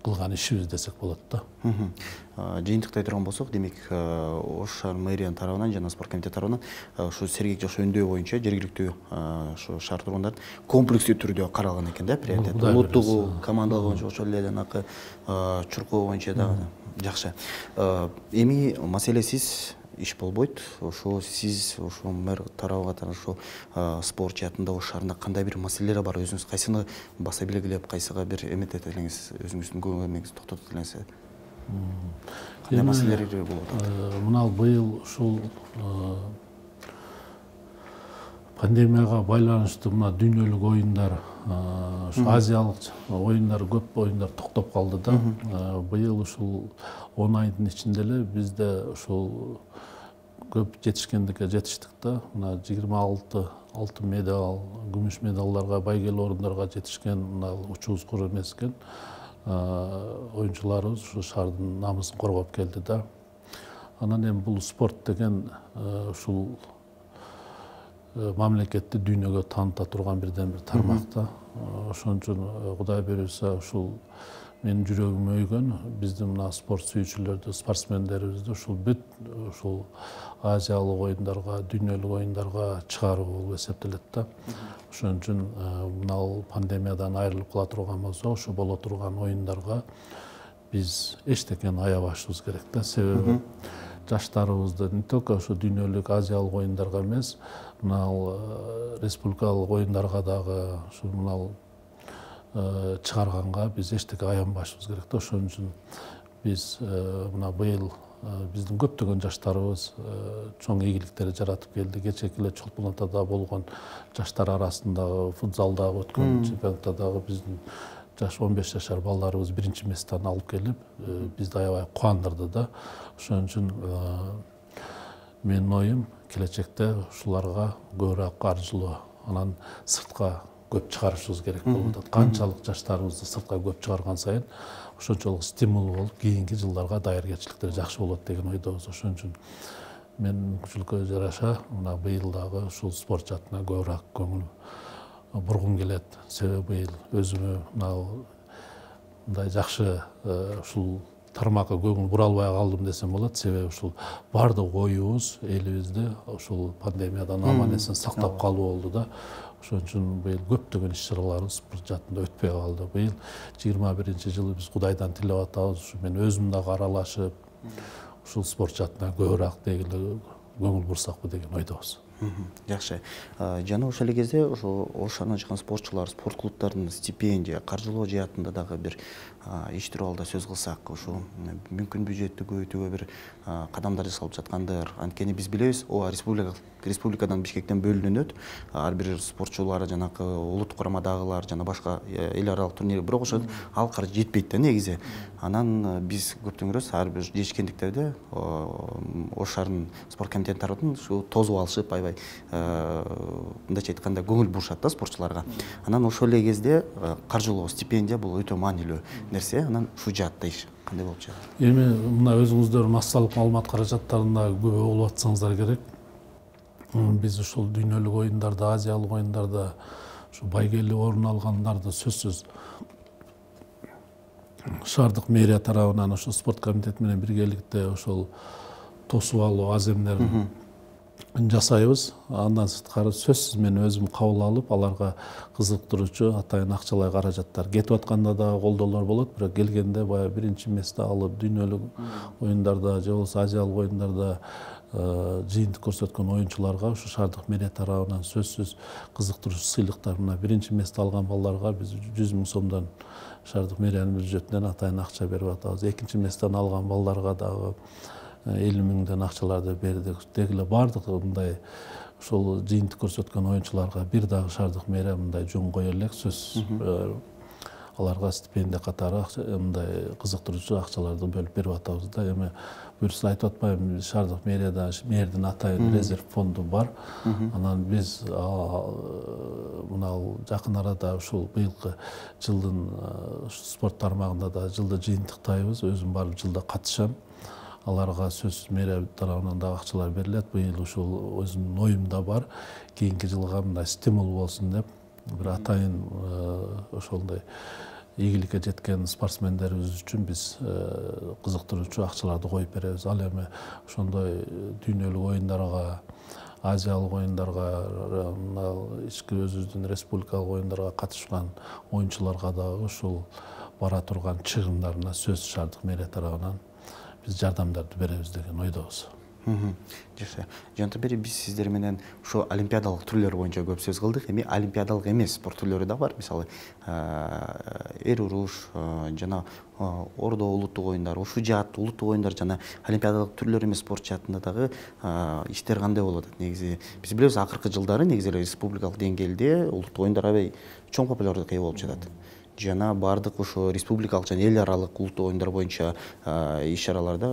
кылган ишибиз десек болот да. Жыйынтыктай турган болсок, демек Ош шаар мэриянын тарабынан жана спорт комитети тарабынан ушу сергек жаш өндөө боюнча жергиликтүү ушу шаар тургундарын комплекстүү түрдө каралган экен да, приоритет. Улуттугу, командалык боюнча ошол эле жанакы чуркоо боюнча дагы жакшы. Эми маселесиз иш болбойт. Ошо сиз ошо мэр тарабы катары ошо спорт жаатында Ош шаарында кандай бир маселелер бар, өзүңүз кайсыны баса белгилеп, кайсыга бир эметет элеңиз, өзүңүздүн көңүл эмеңизди токтотот элеңиз? Кандай маселелер болот? Мына быйыл ушул пандемияга байланыштуу мына дүйнөлүк оюндар, азиялык оюндар, көп оюндар токтоп калды да. Быйыл ушул 10 айдын ичинде эле бизде ушул көп жетишкендикке жетиштик да. Мына 26 алтын медаль, күмүш медалдарга, байгелүү орундарга жетишкен мына учубуз кур эмес экен. Оюнчуларыбыз ушу шаардын намысын коргоп келди да. Анан эми бул спорт деген ушул мамлекетти дүйнөгө тааныта турган бирден бир тармак да. Ошон үчүн Кудай буйруса ушул менин жүрөгүм өйгөн биздин мына спорт сүйүүчүлөрдү, спортсмендерибизди ушул бүт ушул азиялык оюндарга, дүйнөлүк оюндарга чыгаруу болуп эсептелет да. Ошон үчүн мына пандемиядан айрылып кала турган болсок, ушу боло турган оюндарга биз эчтекени аябашыбыз керек да. Себеби жаштарыбызды не только ушу дүйнөлүк азиялык оюндарга эмес, мына республикалык оюндарга дагы ушу мына чыгарганга биз эчтеке аянбашыбыз керек да. Ошон үчүн биз мына быйыл биздин көптөгөн жаштарыбыз чоң ийгиликтерди жаратып келди. Кечээки эле Чолпон Атада болгон жаштар арасындагы футзалдагы өткөн чемпионатта дагы биздин жаш 15 жашар балдарыбыз биринчи месттен алып келип, бизди аябай кубандырды да. Ошон үчүн менин оюм келечекте ушуларга көбүрөөк каржылоо, анан сыртка көп чыгарышыбыз керек болуп атат. Канчалык жаштарыбызды сыртка көп чыгарган сайын ошончолук стимул болуп, кийинки жылдарга даяркерчиликтер жакшы болот деген ойдобуз. Ошон үчүн мен мүмкүнчүлүккө жараша мына быйыл дагы ушул спорт жаатына көбүрөөк көңүл бургум келет. Себеби быйыл өзүмө мындай жакшы ушул тармакка көңүл бура албай калдым десем болот. Себеби ушул баардык оюбуз элибизди ушул пандемиядан аман эсен сактап калуу болду да. Ошон үчүн быйыл көптөгөн иш-чараларыбыз спорт жаатында өтпөй калды. Быйыл 21-жылы биз Кудайдан тилеп атабыз. Ушу мен өзүм дагы аралашып, ушул спорт жаатына көбүрөөк дегиле көңүл бурсакпы деген ойдобуз. Жакшы. Жана ошол эле кезде ошо Ош шаарынан чыккан спортчулар, спорт клубтарынын стипендия, каржылоо жаатында дагы бир иш тууралуу сөз кылсак, ошо мүмкүн бюджетти көбөйтүүгө бир кадамдар жасалып жаткандыр. Анткени биз билебиз, республикадан Бишкектен бөлүнөт ар бир спортчулар, жанакы улуттук курамадагылар жана башка эл аралык турнир, бирок ошо ал каржы жетпейт да негизи. Анан биз көптөн көрөбүз, ар бир жетишкендиктерде Ош шаарынын спорт комитети тарабынан ушу тосуп алышып, аябай мындайча айтканда көңүл бурушат да спортчуларга. Анан ошол эле кезде каржылоо, стипендия бул өтө маанилүү нерсе. Анан ушул жаатта иш кандай болуп жатат? Эми мына өзүңүздөр массалык маалымат каражаттарында күбө болуп атсаңыздар керек. Биз ушул дүйнөлүк оюндарда, азиялык оюндарда ушу байгелүү орун алгандарды сөзсүз шаардык мэрия тарабынан ошо спорт комитети менен биргеликте ошол тосуп алуу аземдерин жасайбыз. Андан сырткары сөзсүз мен өзүм кабыл алып, аларга кызыктыруучу атайын акчалай каражаттар кетип атканда да колдоолор болот, бирок келгенде баягы биринчи месте алып, дүйнөлүк оюндарда же болбосо азиялык оюндарда жыйынтык көрсөткөн оюнчуларга ушу шаардык мэрия тарабынан сөзсүз кызыктыруучу сыйлыктар, мына биринчи месте алган балдарга биз 100 000 сомдон шаардык мэриянын бюджетинен атайын акча берип атабыз. Экинчи месттен алган балдарга дагы 50 000 акчаларды бердик. Дегиле баардык мындай ошол жыйынтык көрсөткөн оюнчуларга бир дагы шаардык мэрия мындай жөн кое элек, сөзсүз аларга стипендия катары мындай кызыктыруучу акчаларды бөлүп берип атабыз да. Эми буюрса айтып атпайбы, шаардык мэрияда мэрдин атайын резерв фонду бар. Анан биз мына жакын арада ушул быйылкы жылдын спорт тармагында да жылды жыйынтыктайбыз. Өзүм барып жылда катышам. Аларга сөзсүз мэрия тарабынан да акчалар берилет. Быйыл ушул өзүмдүн оюмда бар. Кийинки жылга мындай стимул болсун деп бир атайын ошондой ийгиликке жеткен спортсмендерибиз үчүн биз кызыктыруучу акчаларды коюп беребиз. Ал эми ошондой дүйнөлүк оюндарга, азиялык оюндарга, ички өзүбүздүн республикалык оюндарга катышкан оюнчуларга дагы ушул бара турган чыгымдарына сөзсүз шаардык мэрия тарабынан биз жардамдарды беребиз деген ойдобуз. Жакшы. Жанагы бери биз сиздер менен ошо олимпиадалык түрлөр боюнча көп сөз кылдык. Эми олимпиадалык эмес спорт түрлөрү да бар. Мисалы, эр уруш, жана ордо улуттук оюндар, ушул жаат улуттук оюндар жана олимпиадалык түрлөр эмес спорт жаатында дагы иштер кандай болуп атат? Негизи биз билебиз, акыркы жылдары негизи эле республикалык деңгээлде улуттук оюндар аябай чоң популярдыкка ээ болуп жатат. Жана бардык ошо республикалык жана эл аралык улуттук оюндар боюнча иш-чараларда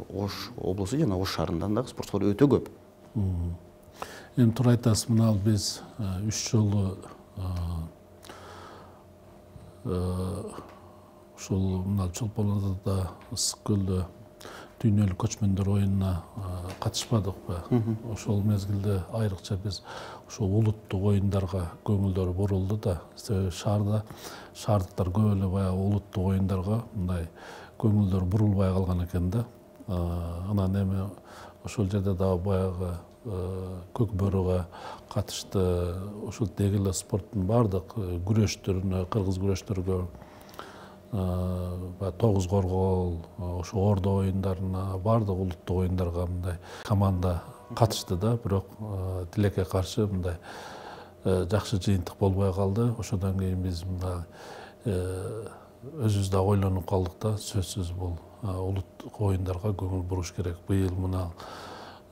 Ош облусу жана Ош шаарынан дагы спортчулар өтө көп. Эми туура айтасыз, мына биз 3 жолу ушул мына Чолпон Атада Ысык көлдө дүйнөлүк көчмөндөр оюнуна катышпадыкпы? Ошол мезгилде айрыкча биз ошол улуттук оюндарга көңүлдөр бурулду да. Себеби шаардыктар көп эле баягы улуттук оюндарга мындай көңүлдөр бурулбай калган экен да. Анан эми ошол жерде дагы баягы көк бөрүгө катышты. Ошол деги эле спорттун бардык күрөштөрүнө, кыргыз күрөштөргө, тогуз коргоол, ошо ордо оюндарына, бардык улуттук оюндарга мындай команда катышты да. Бирок тилекке каршы мындай жакшы жыйынтык болбой калды. Ошондон кийин биз мындай өзүбүз да ойлонуп калдык да. Сөзсүз бул улуттук оюндарга көңүл буруш керек. Быйыл мына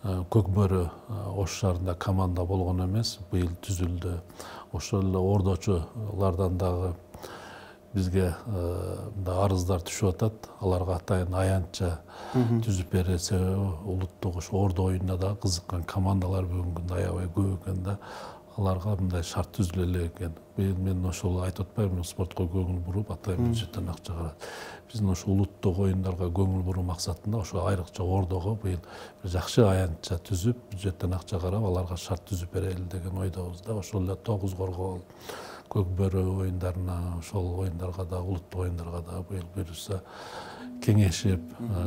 көк бөрү Ош шаарында команда болгон эмес, быйыл түзүлдү. Ошол эле ордочулардан дагы бизге арыздар түшүп атат. Аларга атайын аянтча түзүп бере, себеби улуттук ошо ордо оюнуна да кызыккан командалар бүгүнкү күндө аябай көп экен да. Аларга мындай шарт түзүлө элек экен. Быйыл мен ошол айтып атпайбы, спортко көңүл буруп, атайын бюджеттен акча карап. Биздин ошо улуттук оюндарга көңүл буруу максатында ошо айрыкча ордого быйыл жакшы аянтча түзүп, бюджеттен акча карап, аларга шарт түзүп берели деген ойдобуз да. Ошол эле тогуз коргоол, көк бөрү оюндарына, ошол оюндарга да, улуттук оюндарга да быйыл буюрса кеңешип,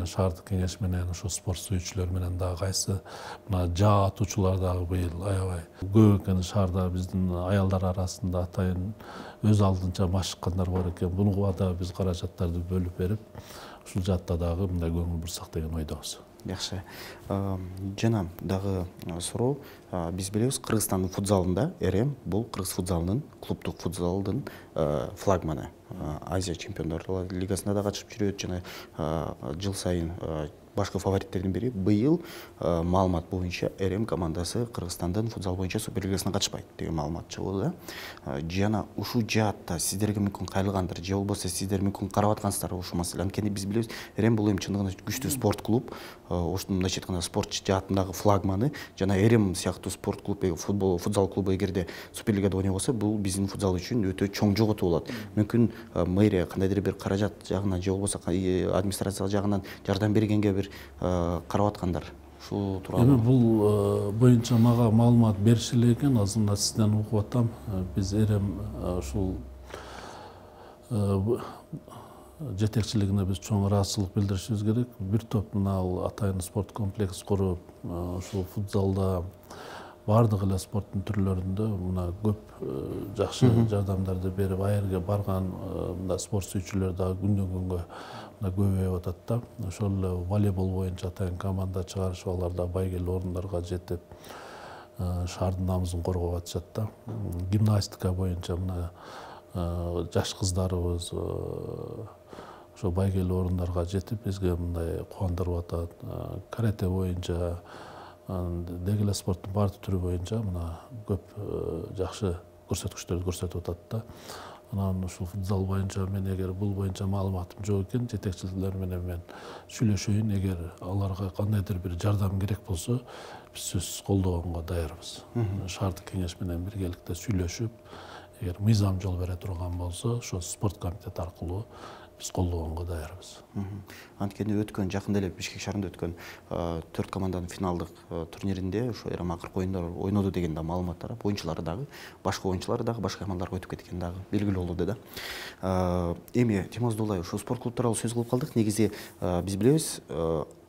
шаардык кеңеш менен, ошо спорт сүйүүчүлөр менен дагы кайсы мына жаа атуучулар дагы быйыл аябай көп экен. Шаарда биздин аялдар арасында атайын өз алдынча машыккандар бар экен. Буга да биз каражаттарды бөлүп берип, ушул жаатта дагы мындай көңүл бурсак деген ойдобуз. Жакшы. Жана дагы суроо, биз билебиз, Кыргызстандын футзалында РМ бул кыргыз футзалынын, клубдук футзалдын флагманы. Азия чемпиондор лигасында да катышып жүрөт жана жыл сайын башкы фавориттердин бири. Быйыл маалымат боюнча РМ командасы Кыргызстандын футзал боюнча суперлигасына катышпайт деген маалымат чыгып да. Жана ушул жаатта сиздерге мүмкүн кайрылгандыр, же болбосо сиздер мүмкүн карап аткансыздарбы ушул маселени? Анткени биз билебиз, РМ бул эми чындыгында күчтүү спорт клуб. Ошондун мындайча айтканда спорт жаатындагы флагманы. Жана РМ сыяктуу спорт клуб, футзал клубу эгерде суперлигада ойной болсо, бул биздин футзал үчүн өтө чоң жоготуу болот. Мүмкүн мэрия кандайдыр бир каражат жагынан, же болбосо администрация жагынан жардам бергенге бир карап аткандар. Ушул тууралуу. Эми бул боюнча мага маалымат беришиле экен. Азырында сизден угуп атам. Биз РМ ушул жетекчилигине биз чоң ыраазычылык билдиришибиз керек. Бир топ мына атайын спорт комплекс куруп, ушул футзалда бардык эле спорттун түрлөрүндө мына көп жакшы жардамдарды берип, ал жерге барган мына спорт сүйүүчүлөр дагы күндөн күнгө көбөйүп атат да. Ошол эле волейбол боюнча атайын команда чыгарышып, алар да байгелүү орундарга жетип, шаардын намысын коргоп атышат да. Гимнастика боюнча мына жаш кыздарыбыз ошо байгелүү орундарга жетип, бизге мындай кубандырып атат. Карате боюнча, деги эле спорттун бардык түрү боюнча мына көп жакшы көрсөткүчтөрдү көрсөтүп атат да. Анан ушул футзал боюнча мен эгер бул боюнча маалыматым жок экен, жетекчилер менен мен сүйлөшөйүн. Эгер аларга кандайдыр бир жардам керек болсо, биз сөзсүз колдогонго даярбыз. Шаардык кеңеш менен биргеликте сүйлөшүп, эгер мыйзам жол бере турган болсо, ошо спорт комитети аркылуу биз колдогонго даярбыз. Анткени өткөн жакында эле Бишкек шаарында өткөн 4 команданын финалдык турниринде ошо эра акыркы оюндар ойноду деген да маалымат тарап, оюнчулары дагы, башка оюнчулары дагы башка командаларга өтүп кеткени дагы белгилүү болду да. Эми Темоз Дулай, ошо спорт клубтары тууралуу сөз кылып калдык. Негизи биз билебиз,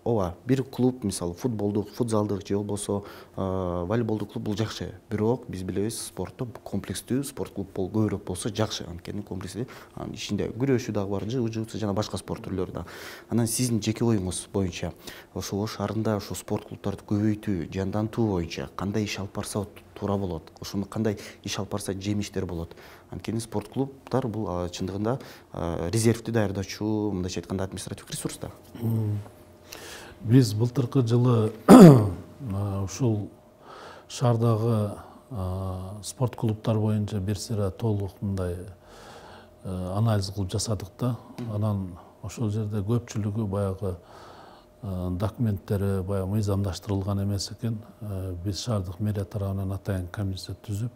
ооба, бир клуб, мисалы футболдук, футзалдык же болбосо волейболдук клуб бул жакшы. Бирок биз билебиз, спортто комплекстүү спорт клуб көбүрөөк болсо жакшы. Анткени комплекстүү, анын ичинде күрөшүү дагы бар, жыгуу-жыгуу жана башка спорт түрлөрү да. Анан сиздин жеке оюңуз боюнча ошо Ош шаарында ошо спорт клубтарды көбөйтүү, жандантуу боюнча кандай иш алып барса туура болот? Ошону кандай иш алып барса жемиштер болот? Анткени спорт клубтар бул чындыгында резервди даярдоочу, мындайча айтканда административдик ресурс да. Биз былтыркы жылы ушул шаардагы спорт клубтар боюнча бир сыйра толук мындай анализ кылып жасадык да. Анан ошол жерде көпчүлүгү баягы документтери баягы мыйзамдаштырылган эмес экен. Биз шаардык мэрия тарабынан атайын комиссия түзүп,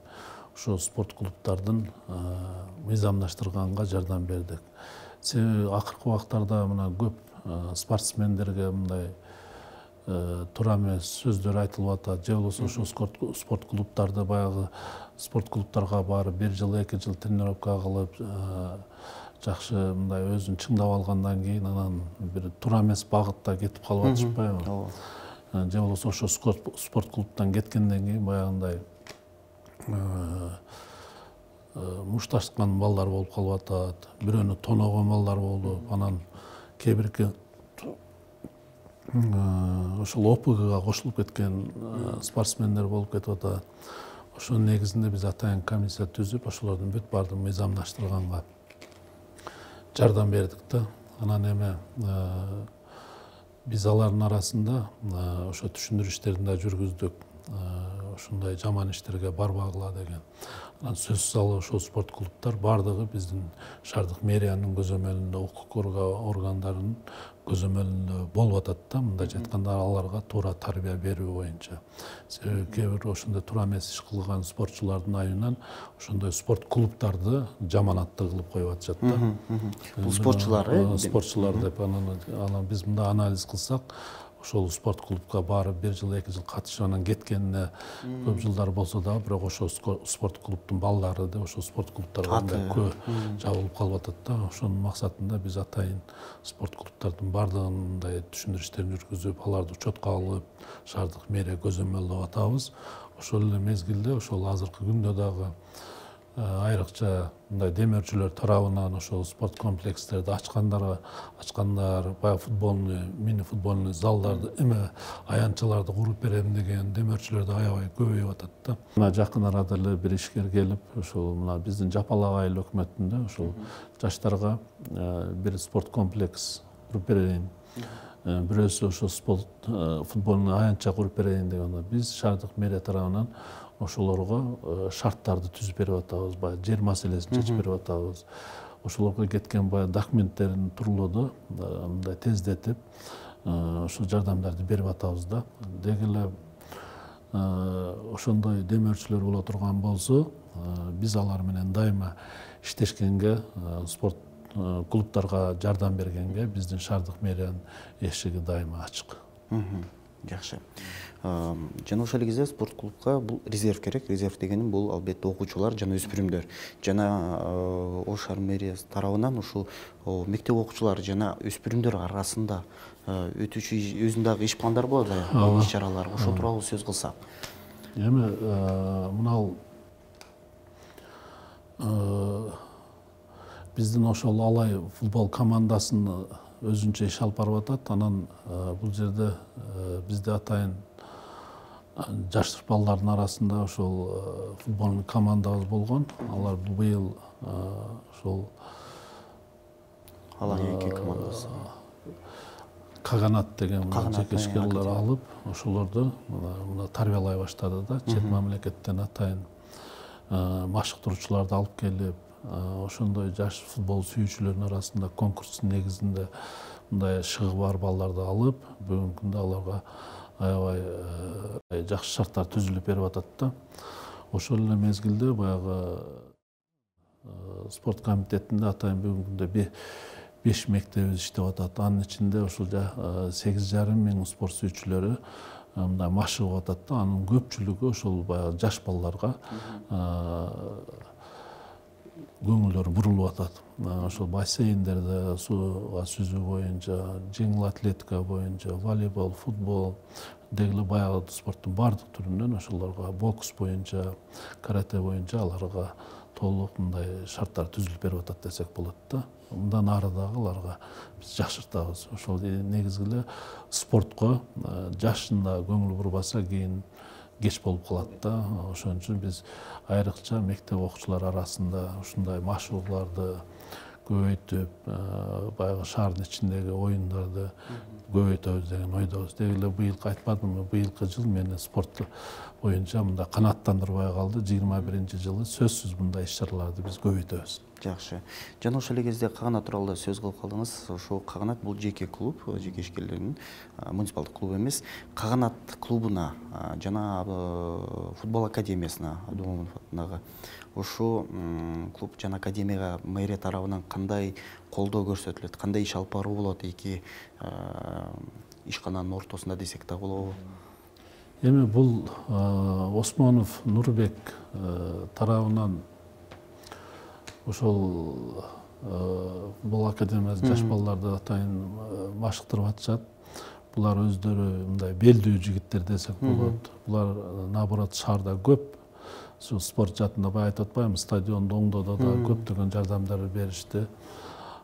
ошо спорт клубтардын мыйзамдаштырганга жардам бердик. Себеби акыркы убактарда мына көп спортсмендерге мындай туура эмес сөздөр айтылып атат, же болбосо ошо спорт клубтарды баягы спорт клубтарга барып 1 жыл 2 жыл тренировка кылып жакшы мындай өзүн чыңдап алгандан кийин анан бир туура эмес багытта кетип калып атышпайбы? Ооба. Же болбосо ошо спорт клубтан кеткенден кийин баягындай мушташкан балдар болуп калып атат, бирөөнү тоногон балдар болуп, анан кээ бирки ошол ОПГга кошулуп кеткен спортсмендер болуп кетип атат. Ошонун негизинде биз атайын комиссия түзүп, ошолордун бүт баардыгын мыйзамдаштырганга жардам бердик да. Анан эми биз алардын арасында ошо түшүндүрүү иштерин да жүргүздүк. Ушундай жаман иштерге барбагыла деген. Анан сөзсүз алып ошол спорт клубтар баардыгы биздин шаардык мэриянын көзөмөлүндө, укук коргоо органдарынын көзөмөлүндө болуп атат да. Мындайча айтканда аларга туура тарбия берүү боюнча. Себеби кээ бир ошондой туура эмес иш кылган спортчулардын айынан ошондой спорт клубтарды жаманаттуу кылып коюп атышат да. Бул спортчулар, спортчулар деп анан биз мында анализ кылсак, ошол спорт клубка барып 1 жыл 2 жыл катышып анан кеткенине көп жылдар болсо дагы, бирок ошол спорт клубтун балдары да ошол спорт клубтарга жабылып калып атат да. Ошонун максатында биз атайын спорт клубтардын баардыгын мындай түшүндүрүү иштерин жүргүзүп, аларды учетко алып, шаардык мэрия көзөмөлдөп атабыз. Ошол эле мезгилде ошол азыркы күндө дагы айрыкча мындай демөөрчүлөр тарабынан ошол спорт комплекстерди ачкандар, баягы футболный, мини футболный залдарды, эме аянтчаларды куруп берем деген демөөрчүлөр да аябай көбөйүп атат да. Мына жакын арада эле бир ишкер келип, ошол мына биздин Жапалак айыл өкмөтүндө ошол жаштарга бир спорт комплекс куруп берейин, бирөөсү ошо спорт футболный аянтча куруп берейин деген. Биз шаардык мэрия тарабынан ошолорго шарттарды түзүп берип атабыз, баягы жер маселесин чечип берип атабыз. Ошолорго кеткен баягы документтерин турлоодо мындай тездетип, ошол жардамдарды берип атабыз да. Деги эле ошондой демөөрчүлөр боло турган болсо, биз алар менен дайыма иштешкенге, спорт клубтарга жардам бергенге биздин шаардык мэриянын эшиги дайыма ачык. Жакшы. Жана ошол кезде спорт клубка бул резерв керек. Резерв дегеним бул албетте окуучулар жана өспүрүмдөр. Жана Ош шаар мэриясы тарабынан ушул мектеп окуучулары жана өспүрүмдөр арасында өтүүчү өзүнүн дагы иш пландары болот, иш чаралар. Ошол тууралуу сөз кылсак. Эми мынау биздин ошол Алай футбол командасынын өзүнчө иш алып барып атат. Анан бул жерде бизде атайын жаш балдардын арасында ошол футболный командабыз болгон. Алар быйыл ошол Алай эки командасы. Каганат деген жеке ишкерлер алып, ошолорду мына тарбиялай баштады да. Чет мамлекеттен атайын машыктыруучуларды алып келип, ошондой жаш футбол сүйүүчүлөрдүн арасында конкурстун негизинде мындай шыгы бар балдарды алып, бүгүнкү күндө аларга аябай жакшы шарттар түзүлүп берип атат да. Ошол эле мезгилде баягы спорт комитетинде атайын бүгүнкү күндө 5 мектебибиз иштеп атат. Анын ичинде ушул 8,5 миң спорт сүйүүчүлөрү мындай машыгып атат да. Анын көпчүлүгү ошол баягы жаш балдарга көңүлдөрү бурулуп атат. Ошол бассейндерде сууга сүзүү боюнча, жеңил атлетика боюнча, волейбол, футбол дегеле баягы спорттун баардык түрүнөн ошолорго, бокс боюнча, карате боюнча аларга толук мындай шарттар түзүлүп берип атат десек болот да. Мындан ары дагы аларга биз жакшыртабыз. Ошол негизги эле спортко жашында көңүл бурбаса кийин кеч болуп калат да. Ошон үчүн биз айрыкча мектеп окуучулары арасында ушундай машыгууларды көбөйтүп, баягы шаардын ичиндеги оюндарды көбөйтөбүз деген ойдобуз. Деги эле быйылкы айтпадымбы, быйылкы жыл мени спорт боюнча мындай канааттандырбай калды. 21-жылы сөзсүз мындай иш-чараларды биз көбөйтөбүз. Жакшы. Жана ошол эле кезде каганат тууралуу сөз кылып калдыңыз. Ошол каганат бул жеке клуб, жеке ишкерлердин муниципалдык клубу эмес. Каганат клубуна жана футбол академиясына Абдумомунов атындагы ошол клуб жана академияга мэрия тарабынан кандай колдоо көрсөтүлөт, кандай иш алып баруу болот эки ишкананын ортосунда десек да болобу? Эми бул Осмонов Нурбек тарабынан ошол футбол академиясы жаш балдарды атайын машыктырып атышат. Булар өздөрү мындай белдүү жигиттер десек болот. Булар наоборот шаарда көп. Ушул спорт жаатында баягы айтып атпаймынбы, стадионду оңдоодо да көптөгөн жардамдар беришти.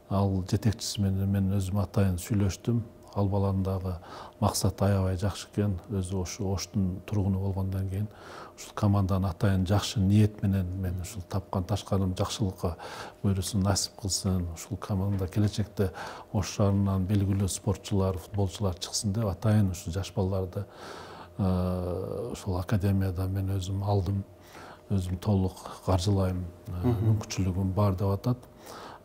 Ал жетекчиси менен мен өзүм атайын сүйлөштүм. Ал баланын дагы максаты аябай жакшы экен. Өзү ошо Оштун тургуну болгондон кийин ушул команданы атайын жакшы ниет менен мен ушул тапкан ташканым жакшылыкка буйрусун насип кылсын. Ушул команда келечекте Ош шаарынан белгилүү спортчулар, футболчулар чыксын деп атайын ушул жаш балдарды ушул академияда мен өзүм алдым. Өзүм толук каржылайм, мүмкүнчүлүгүм бар деп атат.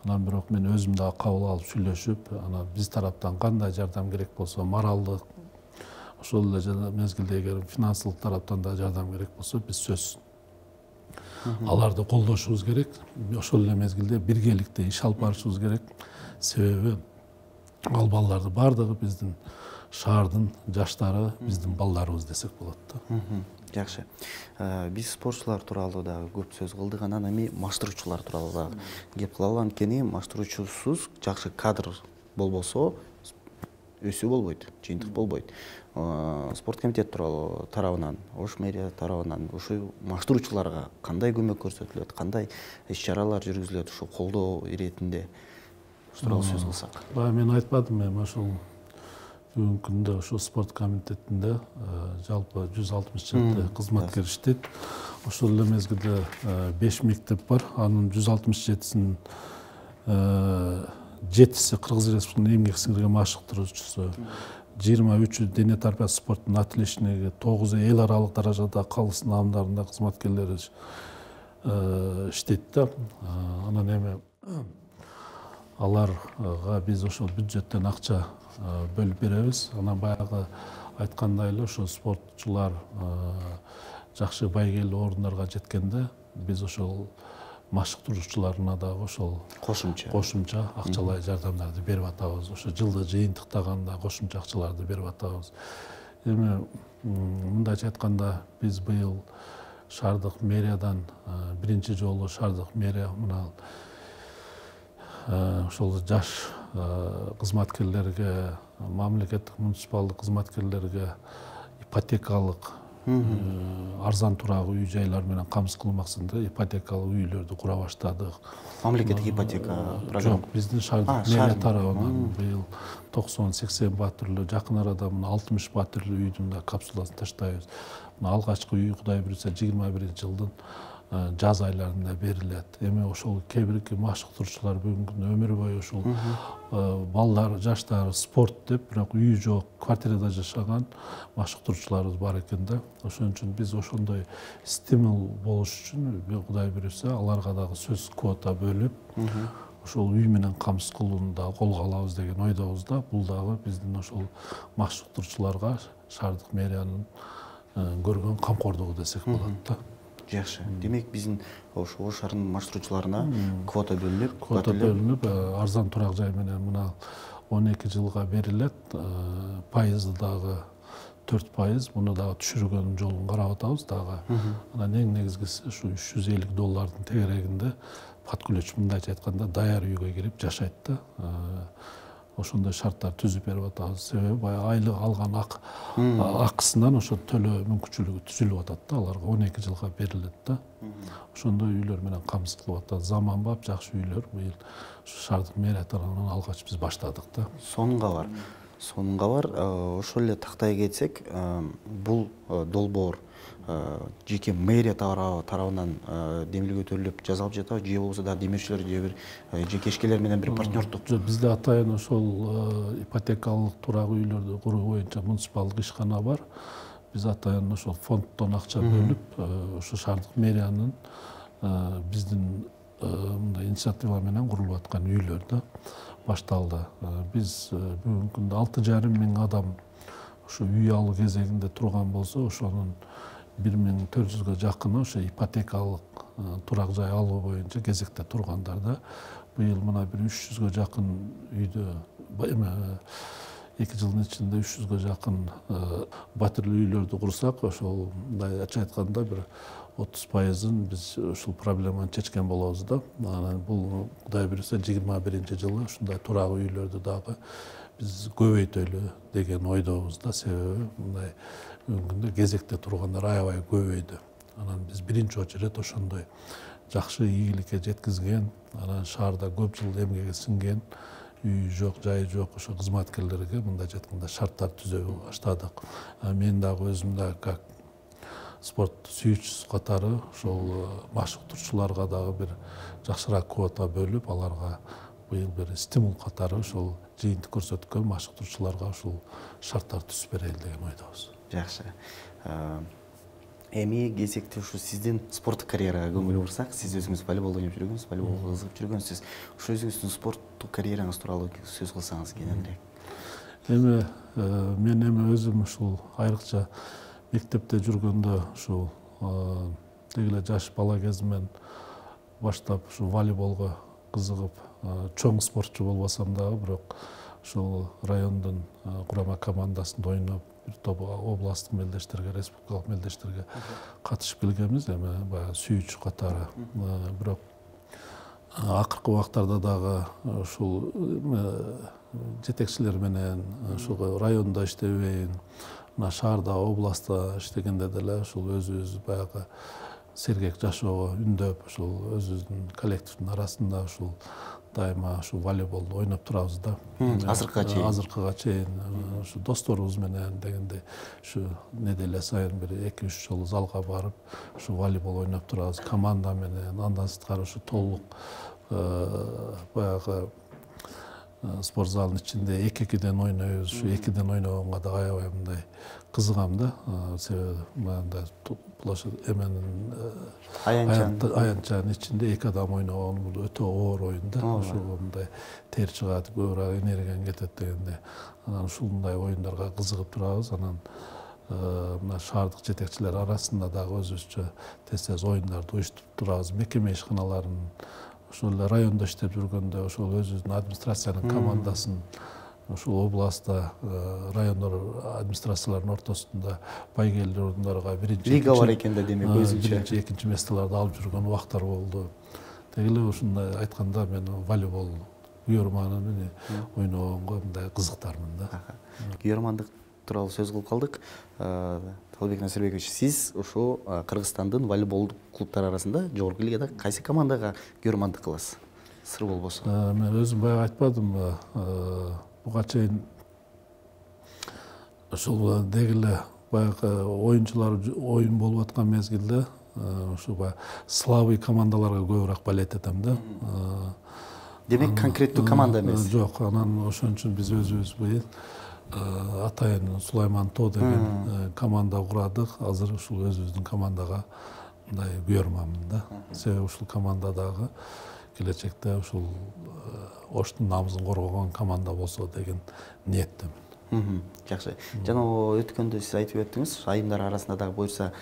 Анан бирок мен өзүм дагы кабыл алып сүйлөшүп, анан биз тараптан кандай жардам керек болсо, моралдык, ошол эле мезгилде эгер финансылык тараптан да жардам керек болсо, биз сөзсүз аларды колдошубуз керек. Ошол эле мезгилде биргеликте иш алып барышыбыз керек. Себеби ал балдарды баардыгы биздин шаардын жаштары, биздин балдарыбыз десек болот да. Жакшы. Биз спортчулар тууралуу дагы көп сөз кылдык, анан эми маштыруучулар тууралуу дагы кеп калалы. Анткени маштыруучусуз жакшы кадр болбосо өсүү болбойт, жыйынтык болбойт. Спорт комитет тууралуу тарабынан, Ош мэрия тарабынан ушул маштыруучуларга кандай көмөк көрсөтүлөт, кандай иш-чаралар жүргүзүлөт ушул колдоо иретинде? Ушул тууралуу сөз кылсак. Баягы мен айтпадымбы, эми ошол бүгүнкү күндө ошол спорт комитетинде жалпы 167 кызматкер иштейт. Ошол эле мезгилде 5 мектеп бар. Анын 167-синин 7-си Кыргыз Республикасынын эмгек сиңирген машыктыруучусу, 23-ü дене тарбиясы спорттун атлетчиги, 9-у эл аралык даражада калыс наамдарында кызматкерлери иштейт да. Анан эми аларга биз ошол бюджеттен акча бөлүп беребиз. Анан баягы айткандай эле ошол спортчулар жакшы байгелүү орундарга жеткенде биз ошол машыктыруучуларына дагы ошол кошумча акчалай жардамдарды берип атабыз. Ошо жылды жыйынтыктаганда кошумча акчаларды берип атабыз. Эми мындайча айтканда биз быйыл шаардык мэриядан биринчи жолу шаардык мэрия мына ошол жаш кызматкерлерге, мамлекеттик муниципалдык кызматкерлерге ипотекалык арзан турагы үй-жайлар менен камсыз кылуу максатында ипотекалык үйлөрдү кура баштадык. Мамлекеттик ипотека программа. Жок, биздин шаардык мэрия тарабынан быйыл 90-80 батирлүү, жакын арада мына 60 батирлүү үйдүн да капсуласын таштайбыз. Мына алгачкы үй Кудай буйрса 21-жылдын жаз айларында берилет. Эми ошол кээ бирки машыктыруучулар бүгүнкү күндө өмүр бою ушул балдар, жаштар спорт деп, бирок үй жок, квартирада жашаган машыктыруучуларыбыз бар экен да. Ошон үчүн биз ошондой стимул болуш үчүн Кудай буйрса аларга дагы сөз квота бөлүп, ошол үй менен камсыз кылууну дагы колго алабыз деген ойдобуз да. Бул дагы биздин ошол машыктыруучуларга шаардык мэриянын көргөн камкордугу десек болот да. Жакшы. Демек биздин ошо Ош шаарынын маршрутчуларына квота бөлүнүп, арзан турак жай менен мына 12 жылга берилет. Пайызы дагы 4%, муну дагы түшүргөн жолун карап атабыз дагы. Анан эң негизгиси ушу $350 тегерегинде подкулөч, мындайча айтканда даяр үйгө кирип жашайт да. Ошондой шарттар түзүп берип атабыз. Себеби баягы айлык алган акысынан ошо төлөө мүмкүнчүлүгү түзүлүп атат да, аларга 12 жылга берилет да. Ошондой үйлөр менен камсыз кылып атат. Заманбап жакшы үйлөр быйыл шаардык мэрия тарабынан алгач биз баштадык да. Сонунга бар. Ошол эле тактай кетсек, бул долбоор жеке мэрия тарабынан демилге өтөлүп жасалып жатабы, же болбосо дагы демирчилер же бир жекешкелер менен бир партнердук? Бизде атайын ошол ипотекалык турак үйлөрдү куруу боюнча муниципалдык ишкана бар. Биз атайын ошол фонддон акча бөлүп, ошо шаардык мэриянын биздин мындай инициатива менен курулуп аткан үйлөр да башталды. Биз бүгүнкү күндө 6,5 адам ошо үй алуу кезегинде турган болсо, ошонун 1400гө жакыны ошо ипотекалык турак жай алуу боюнча кезекте тургандар да. Быйыл мына бир 300гө жакын үйдө 2 жылдын ичинде 300гө жакын батирлүү үйлөрдү курсак, ошол мындай айтканда бир 30%-ын биз ушул проблеманы чечкен болобуз да. Анан бул Кудай буйруса 21-жылы ушундай турак үйлөрдү дагы биз көбөйтөлү деген ойдобуз да. Себеби мындай күндө кезекте тургандар аябай көбөйдү. Анан биз биринчи очередь ошондой жакшы ийгиликке жеткизген, анан шаарда көп жыл эмгеги сиңген, үй жок, жайы жок ошо кызматкерлерге мындайча айтканда шарттар түзө баштадык. Мен дагы өзүм да как спорт сүйүүчүсү катары ошол машыктыруучуларга дагы бир жакшыраак квота бөлүп, аларга быйыл бир стимул катары ошол жыйынтык көрсөткөн машыктыруучуларга ушул шарттар түзүп берели деген ойдобуз. Жакшы. Эми кезекте ушу сиздин спорттук карьерага көңүл бурсак, сиз өзүңүз волейбол ойноп жүргөнсүз, волейболго кызыгып жүргөнсүз. Ошо өзүңүздүн спорттук карьераңыз тууралуу сөз кылсаңыз кененирээк. Мен өзүм ушул айрыкча мектепте жүргөндө ушул деги эле жаш бала кезимден баштап ушул волейболго кызыгып, чоң спортчу болбосом дагы, бирок ушул райондун курама командасында ойноп, бир топ областтык мелдештерге, республикалык мелдештерге катышып келгенбиз, эми баягы сүйүүчү катары. Бирок акыркы убактарда дагы ушул жетекчилер менен ушул райондо иштебейин, мына шаарда, областта иштегенде деле ушул өзүбүз баягы сергек жашоого үндөп, ушул өзүбүздүн коллективдин арасында ушул дайыма ушул волейболду ойноп турабыз да. Азыркыга чейин ушу досторубуз менен дегенде ушу неделе сайын бир 2-3 жолу залга барып, ушу волейбол ойноп турабыз команда менен. Андан сырткары ушу толук баягы спорт залынын ичинде 2-2ден ойнойбуз. Ушу 2ден ойногонго да аябай мындай кызыгам да. Себеби мындай площадь эменин аянтчанын ичинде 2 адам ойногон бул өтө оор оюн да. Ушул мындай тер чыгат, көбүрөөк энергияң кетет дегенде. Анан ушундай оюндарга кызыгып турабыз. Анан мына шаардык жетекчилер арасында дагы өзүбүзчө тез оюндарды уюштуруп турабыз. Мекеме ишканаларын ошол эле райондо иштеп жүргөндө ошол өзүбүздүн администрациянын командасын ушул областта райондор администрацияларынын ортосунда байгелер орундарга биринчи лига бар экен да, демек өзүнчө 2-2 месталарды алып жүргөн убактар болду. Деги эле ушундай айтканда мен волейбол күйөрманын ойногонго мындай кызыктармын да. Күйөрмандык тууралуу сөз кылып калдык. Талбек Насырбекович, сиз ушул Кыргызстандын волейболдук клубтары арасында жогорку лигада кайсы командага күйөрмандык кыласыз? Сыр болбосо. Мен өзүм баягы айтпадымбы, буга чейин ушул деги эле баягы оюнчулар оюн болуп аткан мезгилде ушу баягы слабый командаларга көбүрөөк болеть этем да. Демек конкреттүү команда эмес? Жок, анан ошон үчүн биз өзүбүз быйыл атайын Сулайман Тоо деген команда курадык. Азыр ушул өзүбүздүн командага мындай күйөрманмын да. Себеби ушул командадагы келечекте ушул Оштун намысын коргогон команда болсо деген ниеттемин. Жакшы. Жана өткөндө сиз айтып өттүңүз, айымдар арасында дагы буюрса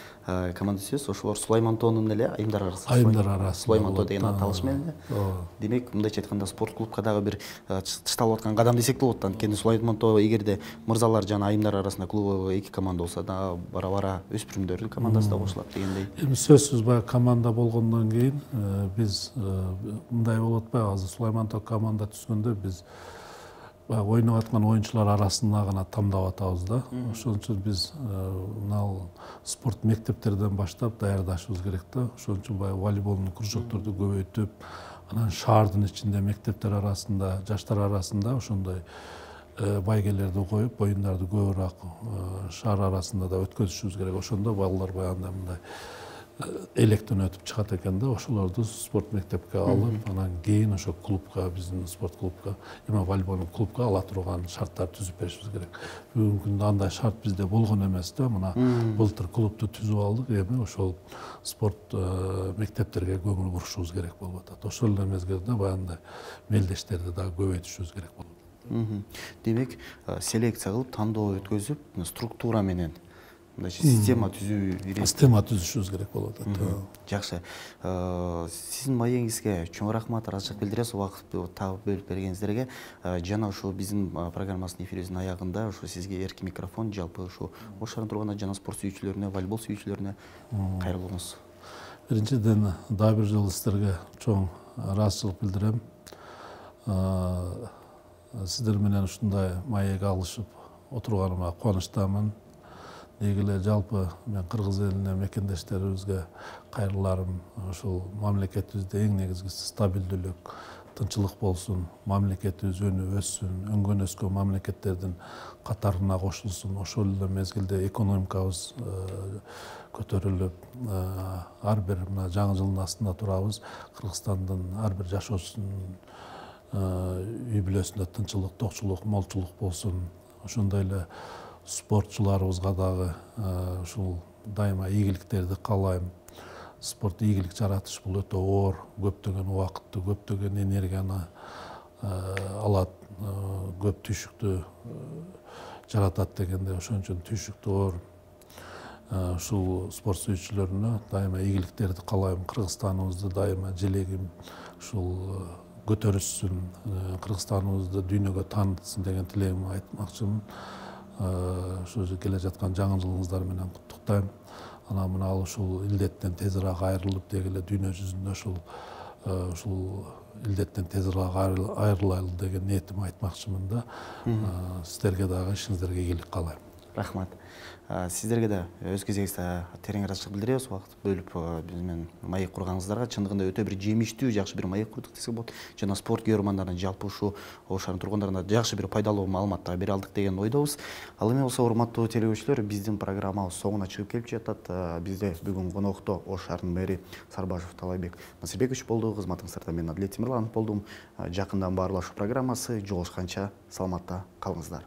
команда түзөсүз. Ошолор Сулаймантоонун эле айымдар арасында. Айымдар арасында. Сулаймантоо деген аталыш менен эле. Демек, мындайча айтканда спорт клубка дагы бир тышталып аткан кадам десек болот. Анткени Сулаймантоо эгерде мырзалар жана айымдар арасында клубу эки команда болсо да бара-бара өспүрүмдөрдүн командасы да кошулат дегендей. Эми сөзсүз баягы команда болгондон кийин биз мындай болуп атпайбы, азыр Сулаймантоо команда түзгөндө биз ойноп аткан оюнчулар арасында гана тандап атабыз да. Ошон үчүн биз мына спорт мектептерден баштап даярдашыбыз керек да. Ошон үчүн баягы волейболдун кружокторду көбөйтүп, анан шаардын ичинде мектептер арасында, жаштар арасында ошондой байгелерди коюп, оюндарды көбүрөөк шаар арасында да өткөзүшүбүз керек. Ошондо балдар баягындай мындай электен өтүп чыгат экен да, ошолорду спорт мектепке алып, анан кийин ошо клубка, биздин спорт клубка, эми волейболдун клубка ала турган шарттар түзүп беришибиз керек. Бүгүнкү күндө андай шарт бизде болгон эмес да. Мына былтыр клубду түзүп алдык, эми ошол спорт мектептерге көңүл бурушубуз керек болуп атат. Ошол эле мезгилде баягындай мелдештерди дагы көбөйтүшүбүз керек болот. Демек, селекция кылып, тандоо өткөзүп, структура менен система түзүшүбүз керек болот. Жакшы. Сиздин маегиңизге чоң рахмат, ыраазычылык билдиребиз убакытты табып бөлүп бергениңиздерге. Жана ушу биздин программабыздын эфирибиздин аягында ушу сизге эркин микрофон, жалпы ушу Ош шаарынын тургундарына жана спорт сүйүүчүлөрүнө, волейбол сүйүүчүлөрүнө кайрылыңыз. Биринчиден дагы бир жолу сиздерге чоң ыраазычылык билдирем. Сиздер менен ушундай маек алышып отурганыма кубанычтамын. Деги эле жалпы мен кыргыз элине, мекендештерибизге кайрыларым ушул мамлекетибизде эң негизгиси стабилдүүлүк, тынчылык болсун, мамлекетибиз өнүп өссүн, өңгөн өскөн мамлекеттердин катарына кошулсун. Ошол эле мезгилде экономикабыз көтөрүлүп, ар бир мына жаңы жылдын астында турабыз. Кыргызстандын ар бир жашоочусунун үй бүлөсүндө тынчылык, токчулук, молчулук болсун. Ошондой эле спортчуларыбызга дагы ушул дайыма ийгиликтерди каалайм. Спорт ийгилик жаратыш бул өтө оор, көптөгөн убакытты, көптөгөн энергияны алат, көп түйшүктү жаратат дегенде, ошон үчүн түйшүктү оор ушул спорт сүйүүчүлөрүнө дайыма ийгиликтерди каалайм. Кыргызстаныбызды дайыма желегим ушул көтөрүшсүн, Кыргызстаныбызды дүйнөгө таанытсын деген тилегимди айтмакчымын. Ошо келе жаткан жаңы жылыңыздар менен куттуктайм. Анан мына ушул илдеттен тезирээк айрылып, деги эле дүйнө жүзүндө ушул илдеттен тезирээк айрылайлы деген ниетимди айтмакчымын да. Сиздерге дагы ишиңиздерге ийгилик каалайм. Рахмат. Сиздерге да өз кезегибизде терең ыраазычылык билдиребиз. Убакыт бөлүп биз менен маек курганыңыздарга. Чындыгында өтө бир жемиштүү, жакшы бир маек курдук десек болот. Жана спорт көрөрмандарына, жалпы ушу Ош шаарынын тургундарына жакшы бир пайдалуу маалыматтар бере алдык деген ойдобуз. Ал эми болсо, урматтуу телекөрүүчүлөр, биздин программабыз соңуна чыгып келип жатат. Бизде бүгүн конокто Ош шаарынын мэри Сарбашев Талайбек Насирбекович болду. Кызматыңыздарда мен Адлет Тимирланов болдум. Жакындан баарлашуу программасы. Жолугушканча саламатта калыңыздар.